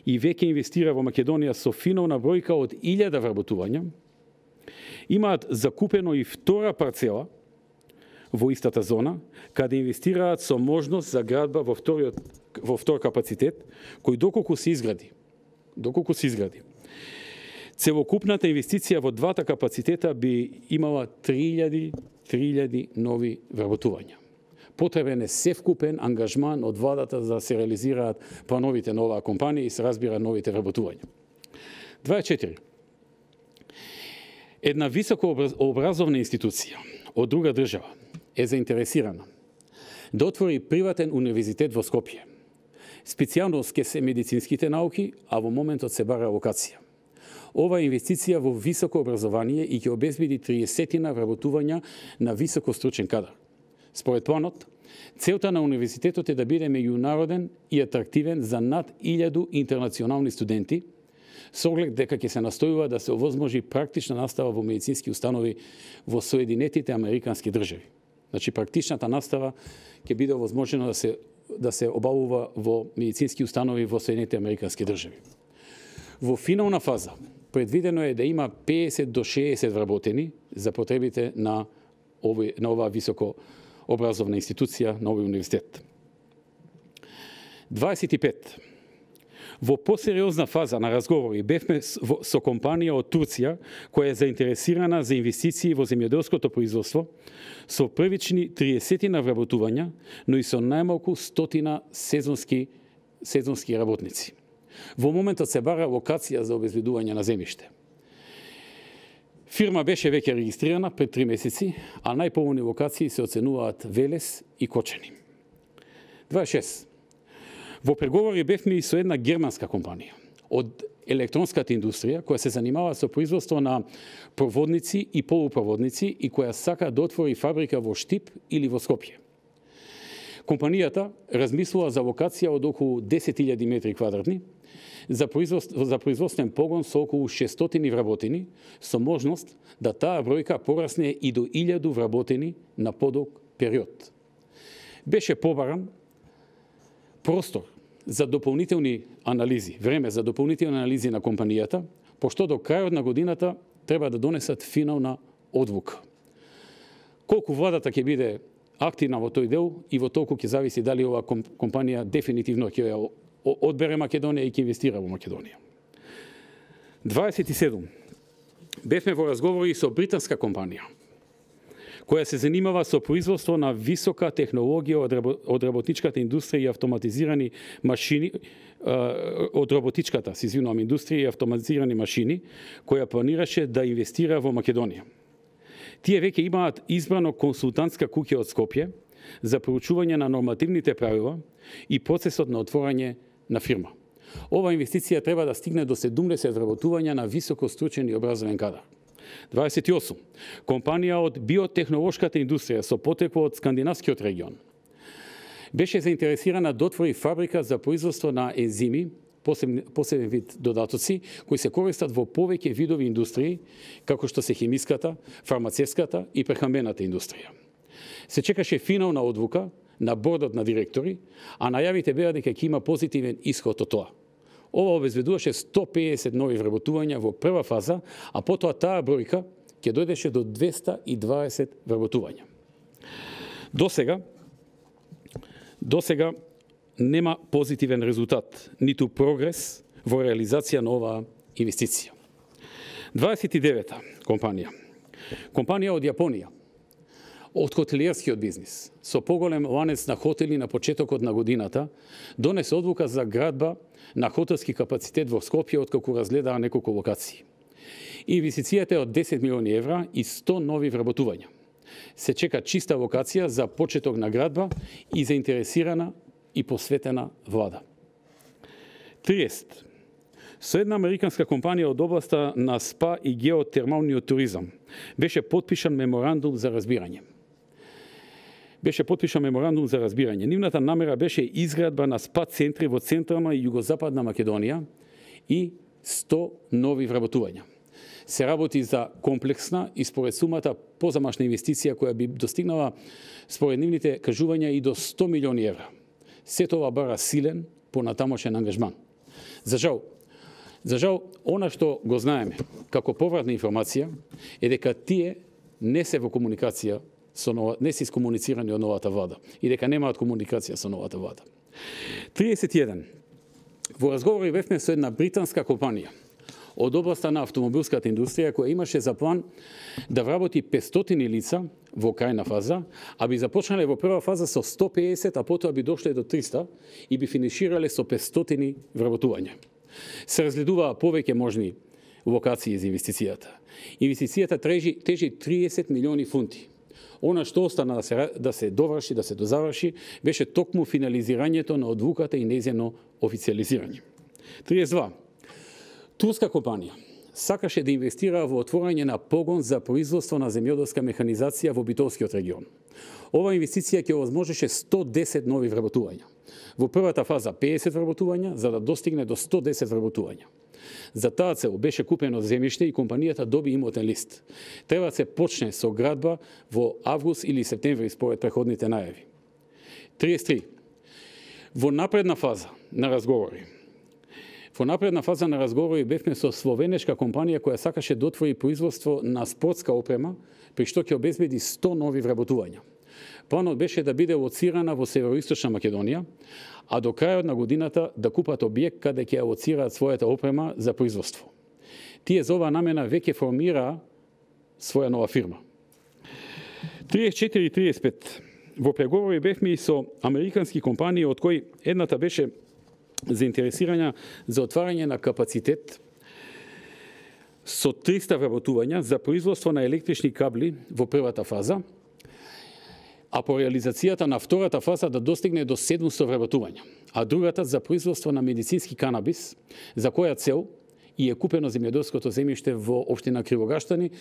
и веќе инвестира во Македонија со финовна бројка од 1000 вработувања, имаат закупено и втора парцела во истата зона, каде инвестираат со можност за градба во втор капацитет, кој доколку се изгради. Целокупната инвестиција во двата капацитета би имала 3000 нови вработувања. Потребен е севкупен ангажман од владата за да се реализираат плановите на оваа компанија и се разбира новите вработувања. 24. Една високообразовна институција од друга држава е заинтересирана да отвори приватен универзитет во Скопје. Специјалност ке се медицинските науки, а во моментот се бара локација. Ова инвестиција во високо образование и ќе обезбеди 30 вработувања на високостручен кадар. Според планот, целта на универзитетот е да биде меѓународен и атрактивен за над 1000 интернационални студенти, со оглед дека ќе се настојува да се овозможи практична настава во медицински установи во Соединетите Американски држави. Значи, практичната настава ќе биде овозможено да се обавува во медицински установи во Соединетите Американски држави. Во финална фаза предвидено е да има 50 до 60 вработени за потребите на оваа високо образовна институција, на овој универзитет. 25. Во посериозна фаза на разговори бевме со компанија од Турција која е заинтересирана за инвестиции во земјоделското производство со првични 30 вработувања, но и со најмалку 100 сезонски работници. Во моментот се бара локација за обезбедување на земјиште. Фирма беше веќе регистрирана пред 3 месеци, а најповолни локации се оценуваат Велес и Кочани. 26. Во преговори бевме и со една германска компанија од електронската индустрија која се занимава со производство на проводници и полупроводници и која сака да отвори фабрика во Штип или во Скопје. Компанијата размислува за локација од околу 10.000 метри квадратни за производствен погон со околу 600 вработени, со можност да таа бројка порасне и до 1000 вработени на подолг период. Беше побаран простор за дополнителни анализи, време за дополнителни анализи на компанијата, пошто до крајот на годината треба да донесат финална одлука. Колку владата ќе биде активна во тој дел и во толку ќе зависи дали оваа компанија дефинитивно ќе ја одбере Македонија и ќе инвестира во Македонија. 27. Бевме во разговори со британска компанија која се занимава со производство на висока технологија од работничката индустрија и автоматизирани машини, индустрија и автоматизирани машини, која планираше да инвестира во Македонија. Тие веќе имаат избрано консултантска куќа од Скопје за проучување на нормативните правила и процесот на отворање на фирма. Ова инвестиција треба да стигне до 70 вработувања на високо стручен и образовен кадар. 28. Компанија од биотехнолошката индустрија со потекло од скандинавскиот регион беше заинтересирана да отвори фабрика за производство на ензими, посебен вид додатоци, кои се користат во повеќе видови индустрии, како што се хемиската, фармацевската и прехрамбената индустрија. Се чекаше финална одлука на бордот на директори, а најавите беа дека ќе има позитивен исход од тоа. Ова обезбедуваше 150 нови вработувања во прва фаза, а потоа таа бројка ќе дојдеше до 220 вработувања. До сега нема позитивен резултат, ниту прогрес во реализација на оваа инвестиција. 29. Компанија од Јапонија, од хотелиерскиот бизнис, со поголем ланец на хотели на почетокот на годината, донесе одлука за градба на хотелски капацитет во Скопје, откако разгледаа неколку локации. Инвестицијата е од 10 милиони евра и 100 нови вработувања. Се чека чиста локација за почеток на градба и заинтересирана и посветена влада. 30. Со една американска компанија од областа на СПА и геотермалниот туризам беше потпишан меморандум за разбирање. беше потпишан меморандум за разбирање. Нивната намера беше изградба на спа центри во централна и југозападна Македонија и 100 нови вработувања. Се работи за комплексна и според сумата позамашна инвестиција која би достигнала според нивните кажувања и до 100 милиони евра. Се тоа бара силен понатамошен ангажман. За жал, она што го знаеме како повратна информација е дека тие не се во комуникација не се искомуницирани од новата влада и дека немаат комуникација со новата влада. 31. Во разговори бевме со една британска компанија од областа на автомобилската индустрија која имаше за план да вработи 500 лица во крајна фаза, а би започнале во прва фаза со 150, а потоа би дошле до 300 и би финиширале со 500 вработувања. Се разгледуваа повеќе можни локации за инвестицијата. Инвестицијата тежи 30 милиони фунти. Она што остана да се доврши, да се дозаврши, беше токму финализирањето на одлуката и нејзино официализирање. 32. Турска компанија сакаше да инвестира во отворање на погон за производство на земјоделска механизација во Битолскиот регион. Ова инвестиција ќе овозможеше 110 нови вработувања. Во првата фаза 50 вработувања, за да достигне до 110 вработувања. За таа цел беше купено земјиште и компанијата доби имотен лист. Треба да се почне со градба во август или септември според преходните најави. 33. Во напредна фаза на разговори бевме со словенешка компанија која сакаше да отвори производство на спортска опрема, при што ќе обезбеди 100 нови вработувања. Планот беше да биде лоцирана во североисточна Македонија, а до крајот на годината да купат објект каде ќе лоцираат својата опрема за производство. Тие за оваа намена веќе формираа своја нова фирма. 34 и 35. Во преговори бевме и со американски компании, од кои едната беше заинтересирања за отварање на капацитет со 300 вработувања за производство на електрични кабли во првата фаза, а по реализацијата на втората фаза да достигне до 700 вработувања, а другата за производство на медицински канабис, за која цел и е купено земјоделското земјиште во општина Кривогаштани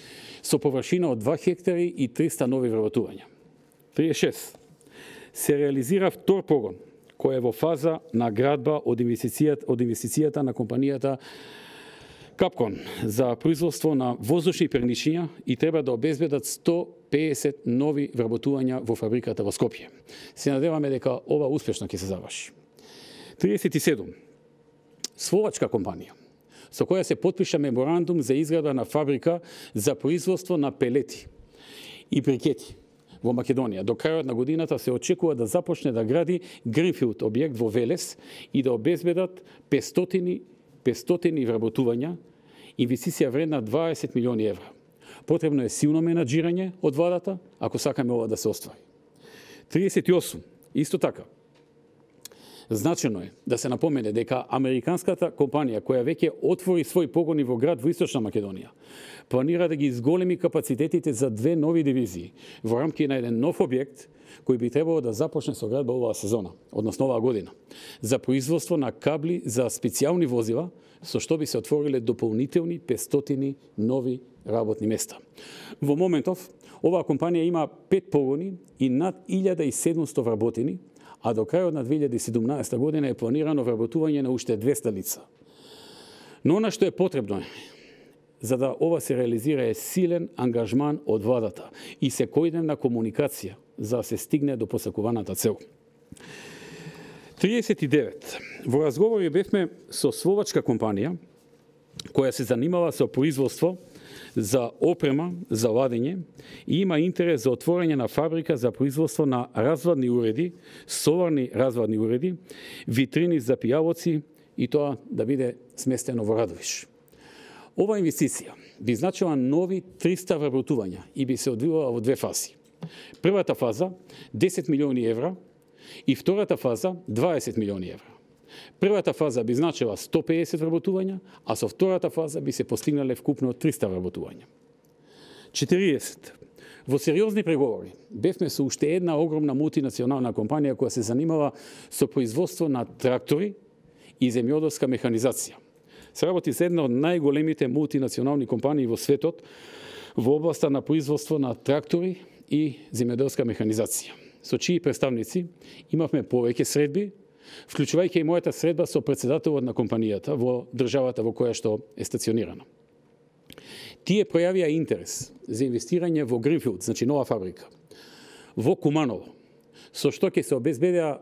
со површина од 2 хектари и 300 нови вработувања. 36. Се реализира втор погон, кој е во фаза на градба од инвестицијата на компанијата Капкон за производство на воздушни перничиња и треба да обезбедат 150 нови вработувања во фабриката во Скопје. Се надеваме дека ова успешно ќе се заврши. 37. Словачка компанија со која се потпиша меморандум за изградба на фабрика за производство на пелети и брикети во Македонија. До крајот на годината се очекува да започне да гради гринфилд објект во Велес и да обезбедат 500 вработувања, инвестиција вредна 20 милиони евра. Потребно е силно менаџирање од владата, ако сакаме ова да се оствари. 38. Исто така, значено е да се напомене дека американската компанија која веќе отвори свој погони во град во Источна Македонија, планира да ги изголеми капацитетите за 2 нови дивизии во рамки на еден нов објект кој би требало да започне со градба оваа сезона, односно оваа година, за производство на кабли за специјални возила, со што би се отвориле дополнителни 500 нови работни места. Во моментов, оваа компанија има 5 погони и над 1700 вработени, а до крајот на 2017 година е планирано вработување на уште 200 лица. Но она што е потребно за да ова се реализира е силен ангажман од владата и секојдневна комуникација за да се стигне до посакуваната цел. 39. Во разговори бевме со словачка компанија која се занимава со производство за опрема за ладење и има интерес за отворање на фабрика за производство на развадни уреди, соларни развадни уреди, витрини за пијалоци и тоа да биде сместено во Радовиш. Ова инвестиција би значила нови 300 вработувања и би се одвивала во 2 фази. Првата фаза 10 милиони евра и втората фаза 20 милиони евра. Првата фаза би значила 150 вработувања, а со втората фаза би се постигнале вкупно 300 вработувања. 40. Во сериозни преговори бевме со уште една огромна мултинационална компанија која се занимава со производство на трактори и земјоделска механизација. Се работи за една од најголемите мултинационални компании во светот во областа на производство на трактори и земјоделска механизација. со чии представници имавме повеќе средби, вклучувајќи и мојата средба со претседателот на компанијата во државата во која што е стационирана. Тие пројавија интерес за инвестирање во Гринфилд, значи нова фабрика, во Куманово, со што ќе се обезбедеа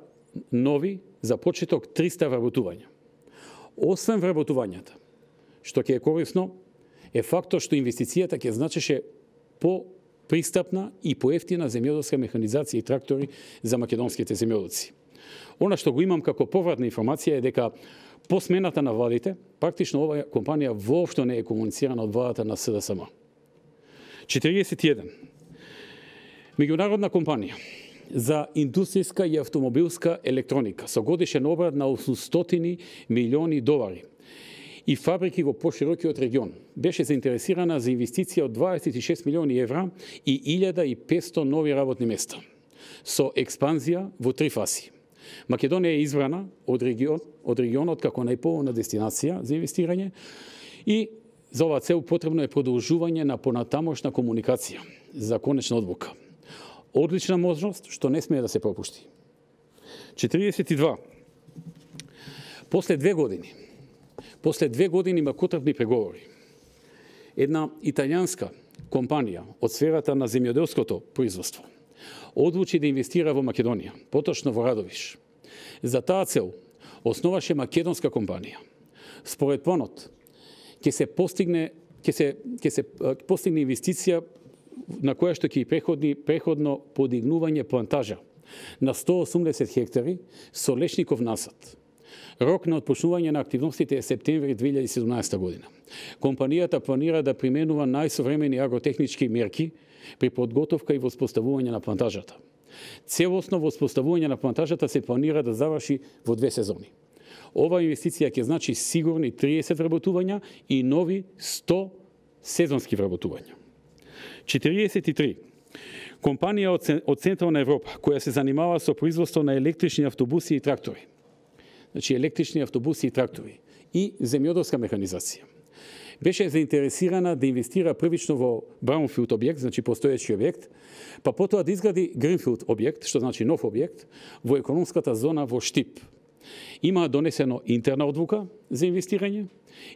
нови за почеток 300 вработувања. Освен вработувањата, што ќе е корисно, е фактот што инвестицијата ќе значеше по-пристапна и поевтина земјоделска механизација и трактори за македонските земјоделци. Она што го имам како повратна информација е дека по смената на владите, практично оваа компанија воопшто не е комуницирана од владата на СДСМ. 41. Меѓународна компанија за индустријска и автомобилска електроника со годишен обрат на 800 милиони долари и фабрики во поширокиот регион беше заинтересирана за инвестиција од 26 милиони евра и 1500 нови работни места, со експанзија во 3 фази. Македонија е избрана од регионот како најповолна дестинација за инвестирање и за оваа цел потребно е продолжување на понатамошна комуникација за конечна одлука. Одлична можност што не смее да се пропушти. 42. После 2 години макотрпни преговори, една италијанска компанија од сферата на земјоделското производство одлучи да инвестира во Македонија, поточно во Радовиш. За таа цел основаше македонска компанија. Според планот ќе се постигне инвестиција на која што ќе преходно подигнување плантажа на 180 хектари со лешников насад. Рок на отпочнување на активностите е септември 2017 година. Компанијата планира да применува најсовремени агротехнички мерки при подготовка и воспоставување на плантажата. Целосно воспоставување на плантажата се планира да заврши во 2 сезони. Ова инвестиција ќе значи сигурни 30 вработувања и нови 100 сезонски вработувања. 43. Компанија од Централна Европа, која се занимава со производство на електрични автобуси и трактори. Значи, електрични автобуси и трактори и земјоделска механизација. Беше заинтересирана да инвестира првично во Браунфилд објект, значи постоечки објект, па потоа да изгради Гринфилд објект, што значи нов објект, во економската зона во Штип. Има донесено интерна одлука за инвестирање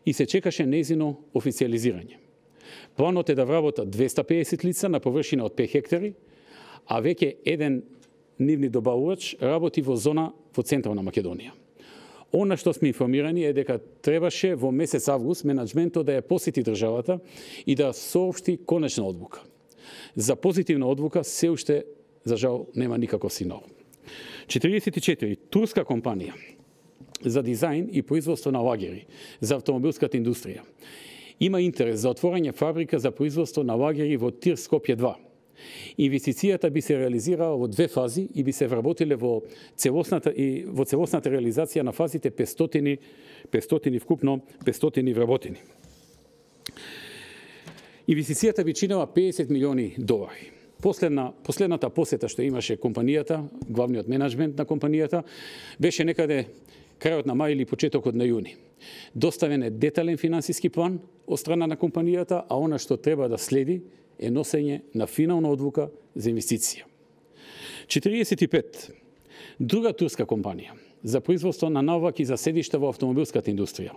и се чекаше нејзино официализирање. Планот е да вработат 250 лица на површина од 5 хектари, а веќе еден нивни добавувач работи во зона во Централна Македонија. Она што сме информирани е дека требаше во месец август менаџментот да ја посети државата и да соопшти конечна одлука. За позитивна одлука се уште, за жал, нема никаков сигнал. 44. Турска компанија за дизајн и производство на лагери за автомобилската индустрија има интерес за отворање фабрика за производство на лагери во Тир Скопје 2. Инвестицијата би се реализирала во 2 фази и би се вработиле во целосната реализација на фазите 500 вкупно 500 вработени. Инвестицијата би чинела 50 милиони долари. Последната посета што имаше компанијата, главниот менеджмент на компанијата, беше некаде крајот на мај или почетокот на јуни. Доставен е детален финансиски план од страна на компанијата, а она што треба да следи е носење на финална одлука за инвестиција. 45. Друга турска компанија за производство на наваки за седишта во автомобилската индустрија.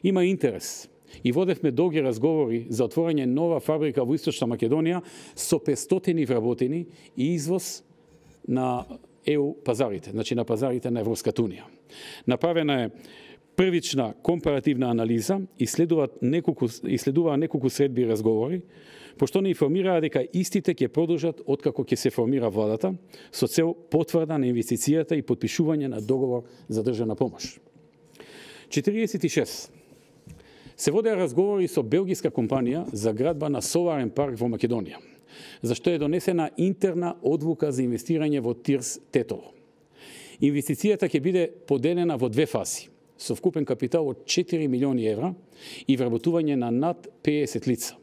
Има интерес и водевме долги разговори за отворање нова фабрика во Источна Македонија со 500 вработени и извоз на ЕУ пазарите, значи на пазарите на Европската унија. Направена е првична компаративна анализа и следуваа неколку средби разговори, пошто не информираа дека истите ќе продолжат откако ќе се формира владата со цел потврда на инвестицијата и потпишување на договор за државна помош. 46. Се водеа разговори со белгиска компанија за градба на соларен парк во Македонија, зашто е донесена интерна одлука за инвестирање во Тирс Тетово. Инвестицијата ќе биде поделена во 2 фази, со вкупен капитал од 4 милиони евра и вработување на над 50 лица.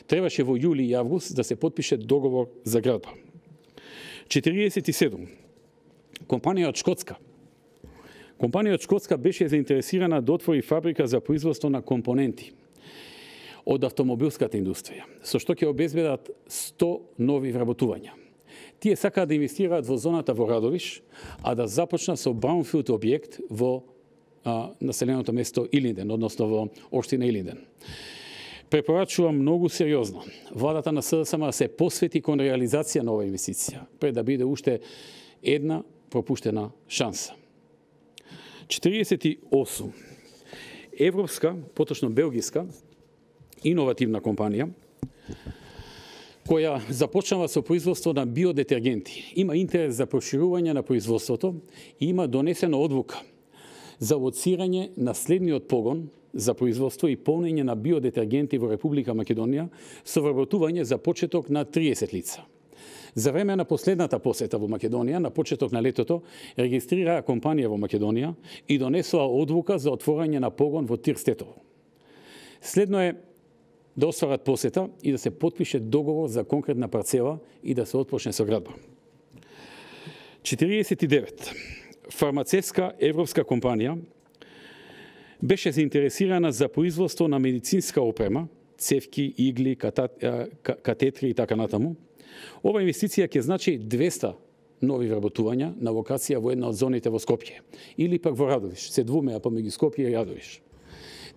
Требаше во јули и август да се потпише договор за градба. 47. Компанија од Шкотска. Компанија од Шкотска беше заинтересирана да отвори фабрика за производство на компоненти од автомобилската индустрија, со што ќе обезбедат 100 нови вработувања. Тие сакаат да инвестираат во зоната во Радовиш, а да започнат со браунфилд објект во населеното место Илинден, односно во општина Илинден. Препорачувам многу сериозно владата на СДСМ да се посвети кон реализација на оваа инвестиција, пред да биде уште една пропуштена шанса. 48. Европска, поточно белгиска, иновативна компанија, која започнава со производство на биодетергенти. Има интерес за проширување на производството и има донесена одлука за лоцирање на следниот погон за производство и полнење на биодетергенти во Република Македонија со вработување за почеток на 30 лица. За време на последната посета во Македонија, на почеток на летото, регистрираа компанија во Македонија и донесоа одлука за отворање на погон во Тирстетово. Следно е да остварат посета и да се потпише договор за конкретна парцела и да се отпочне со градба. 49. Фармацевска европска компанија беше заинтересирана за производство на медицинска опрема, цевки, игли, катетри и така натаму. Ова инвестиција ќе значи 200 нови вработувања на локација во една од зоните во Скопје или пак во Радовиш, се двумеа помеѓу Скопје и Радовиш.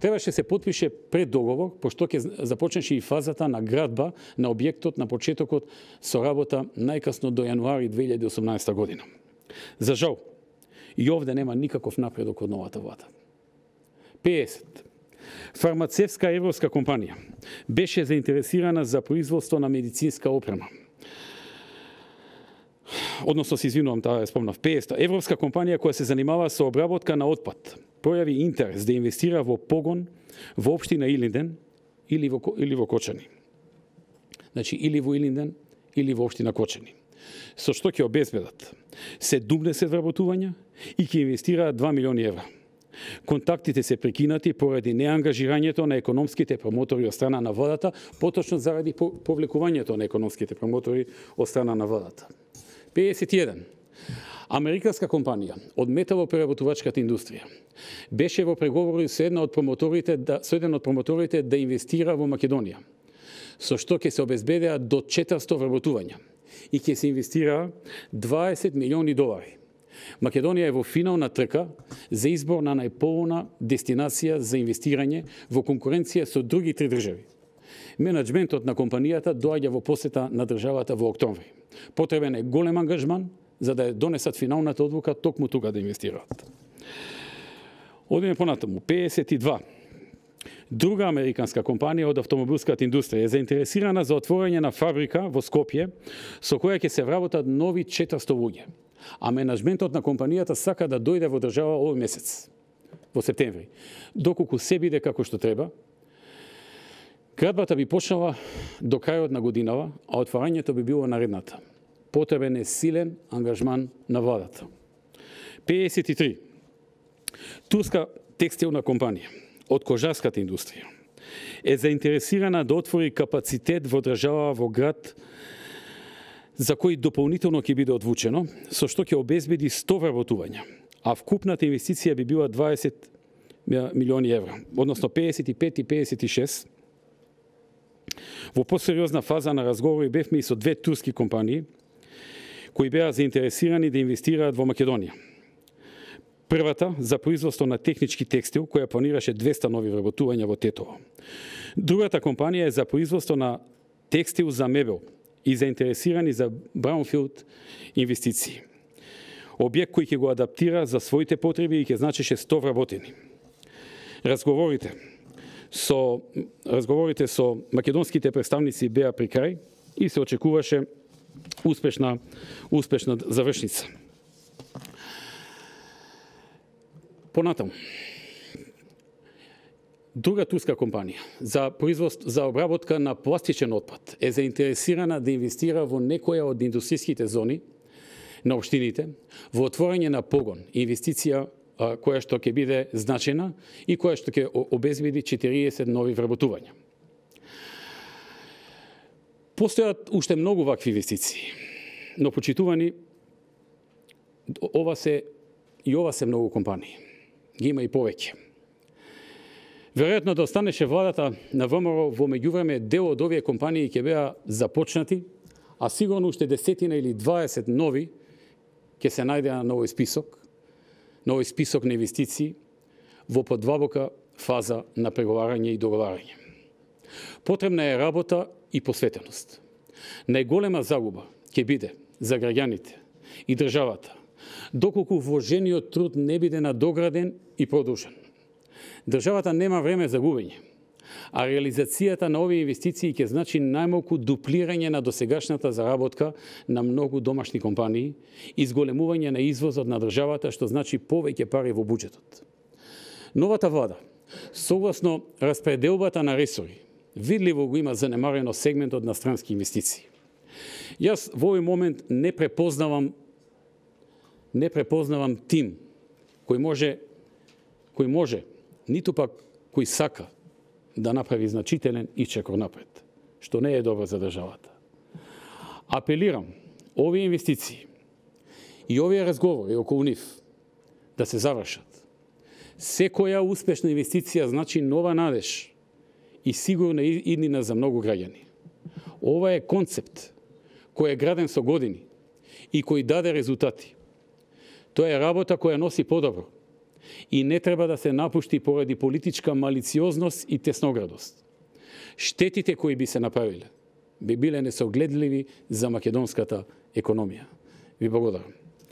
Требаше се потпише пред договор, пошто ќе започнеше и фазата на градба на објектот на почетокот со работа најкасно до јануари 2018 година. За жал, и овде нема никаков напредок од новата влада. 50. Фармацевска европска компанија беше заинтересирана за производство на медицинска опрема. Односно, се извинувам, таа ја спомнав. 50. Европска компанија која се занимава со обработка на отпад пројави интерес да инвестира во погон во општина Илинден или во Кочани. Значи, или во Илинден, или во општина Кочани. Со што ќе обезбедат 70 вработувања и ќе инвестираат 2 милиони евра. Контактите се прекинати поради неангажирањето на економските промотори од страна на владата, поточно заради повлекувањето на економските промотори од страна на владата. 51. Американска компанија од металопреработувачката индустрија беше во преговори со еден од промоторите да инвестира во Македонија, со што ќе се обезбедеа до 400 вработувања и ќе се инвестира 20 милиони долари. Македонија е во финална трка за избор на најповолна дестинација за инвестирање во конкуренција со други 3 држави. Менеджментот на компанијата доаѓа во посета на државата во октомври. Потребен е голем ангажман за да донесат финалната одлука токму тука да инвестираат. Одиме понатаму. 52. Друга американска компанија од автомобилската индустрија е заинтересирана за отворање на фабрика во Скопје со која ќе се вработат нови 400 луѓе. А менеджментот на компанијата сака да дојде во држава овој месец, во септември. Доколку се биде како што треба, градбата би почнала до крајот на годинава, а отворањето би било наредната. Потребен е силен ангажман на владата. 53. Турска текстилна компанија од кожарската индустрија е заинтересирана да отвори капацитет во држава во град за кој дополнително ќе биде одвучено, со што ќе обезбеди 100 вработувања, а вкупната инвестиција би била 20 милиони евра, односно 55 и 56. Во посериозна фаза на разговори бевме и со 2 турски компании кои беа заинтересирани да инвестираат во Македонија. Првата за производство на технички текстил, која планираше 200 нови вработувања во Тетово. Другата компанија е за производство на текстил за мебел и заинтересирани за браунфилд инвестиции. Објект кој ќе го адаптира за своите потреби и ќе значеше 100 вработени. Разговорите со македонските представници беа при крај и се очекуваше успешна завршница. Понатаму. Друга турска компанија за обработка на пластичен отпад е заинтересирана да инвестира во некоја од индустријските зони на општините во отворање на погон, инвестиција која што ќе биде значена и која што ќе обезбеди 40 нови вработувања. Постојат уште многу вакви инвестиции, но почитувани ова се многу компании. Ги има и повеќе. Веројатно да останеше владата на ВМРО во меѓувреме дел од овие компании ќе беа започнати, а сигурно уште 10 или 20 нови ќе се најдеа на овој список на инвестиции во подвабока фаза на преговарање и договарање. Потребна е работа и посветеност. Најголема загуба ќе биде за граѓаните и државата, доколку вложениот труд не биде надограден и продолжен. Државата нема време за губење, а реализацијата на овие инвестиции ќе значи најмалку дуплирање на досегашната заработка на многу домашни компании и зголемување на извозот на државата, што значи повеќе пари во буџетот. Новата влада, согласно распределбата на ресори, видливо го има занемарено сегментот на странски инвестиции. Јас во овој момент не препознавам тим кој може, ниту пак кој сака да направи значителен ичекор напред, што не е добро за државата. Апелирам овие инвестиции и овие разговори околу нив да се завршат. Секоја успешна инвестиција значи нова надеж и сигурна иднина за многу граѓани. Ова е концепт кој е граден со години и кој даде резултати. Тоа е работа која носи подобро и не треба да се напушти поради политичка малициозност и тесноградост. Штетите кои би се направиле би биле несогледливи за македонската економија. Ви благодарам.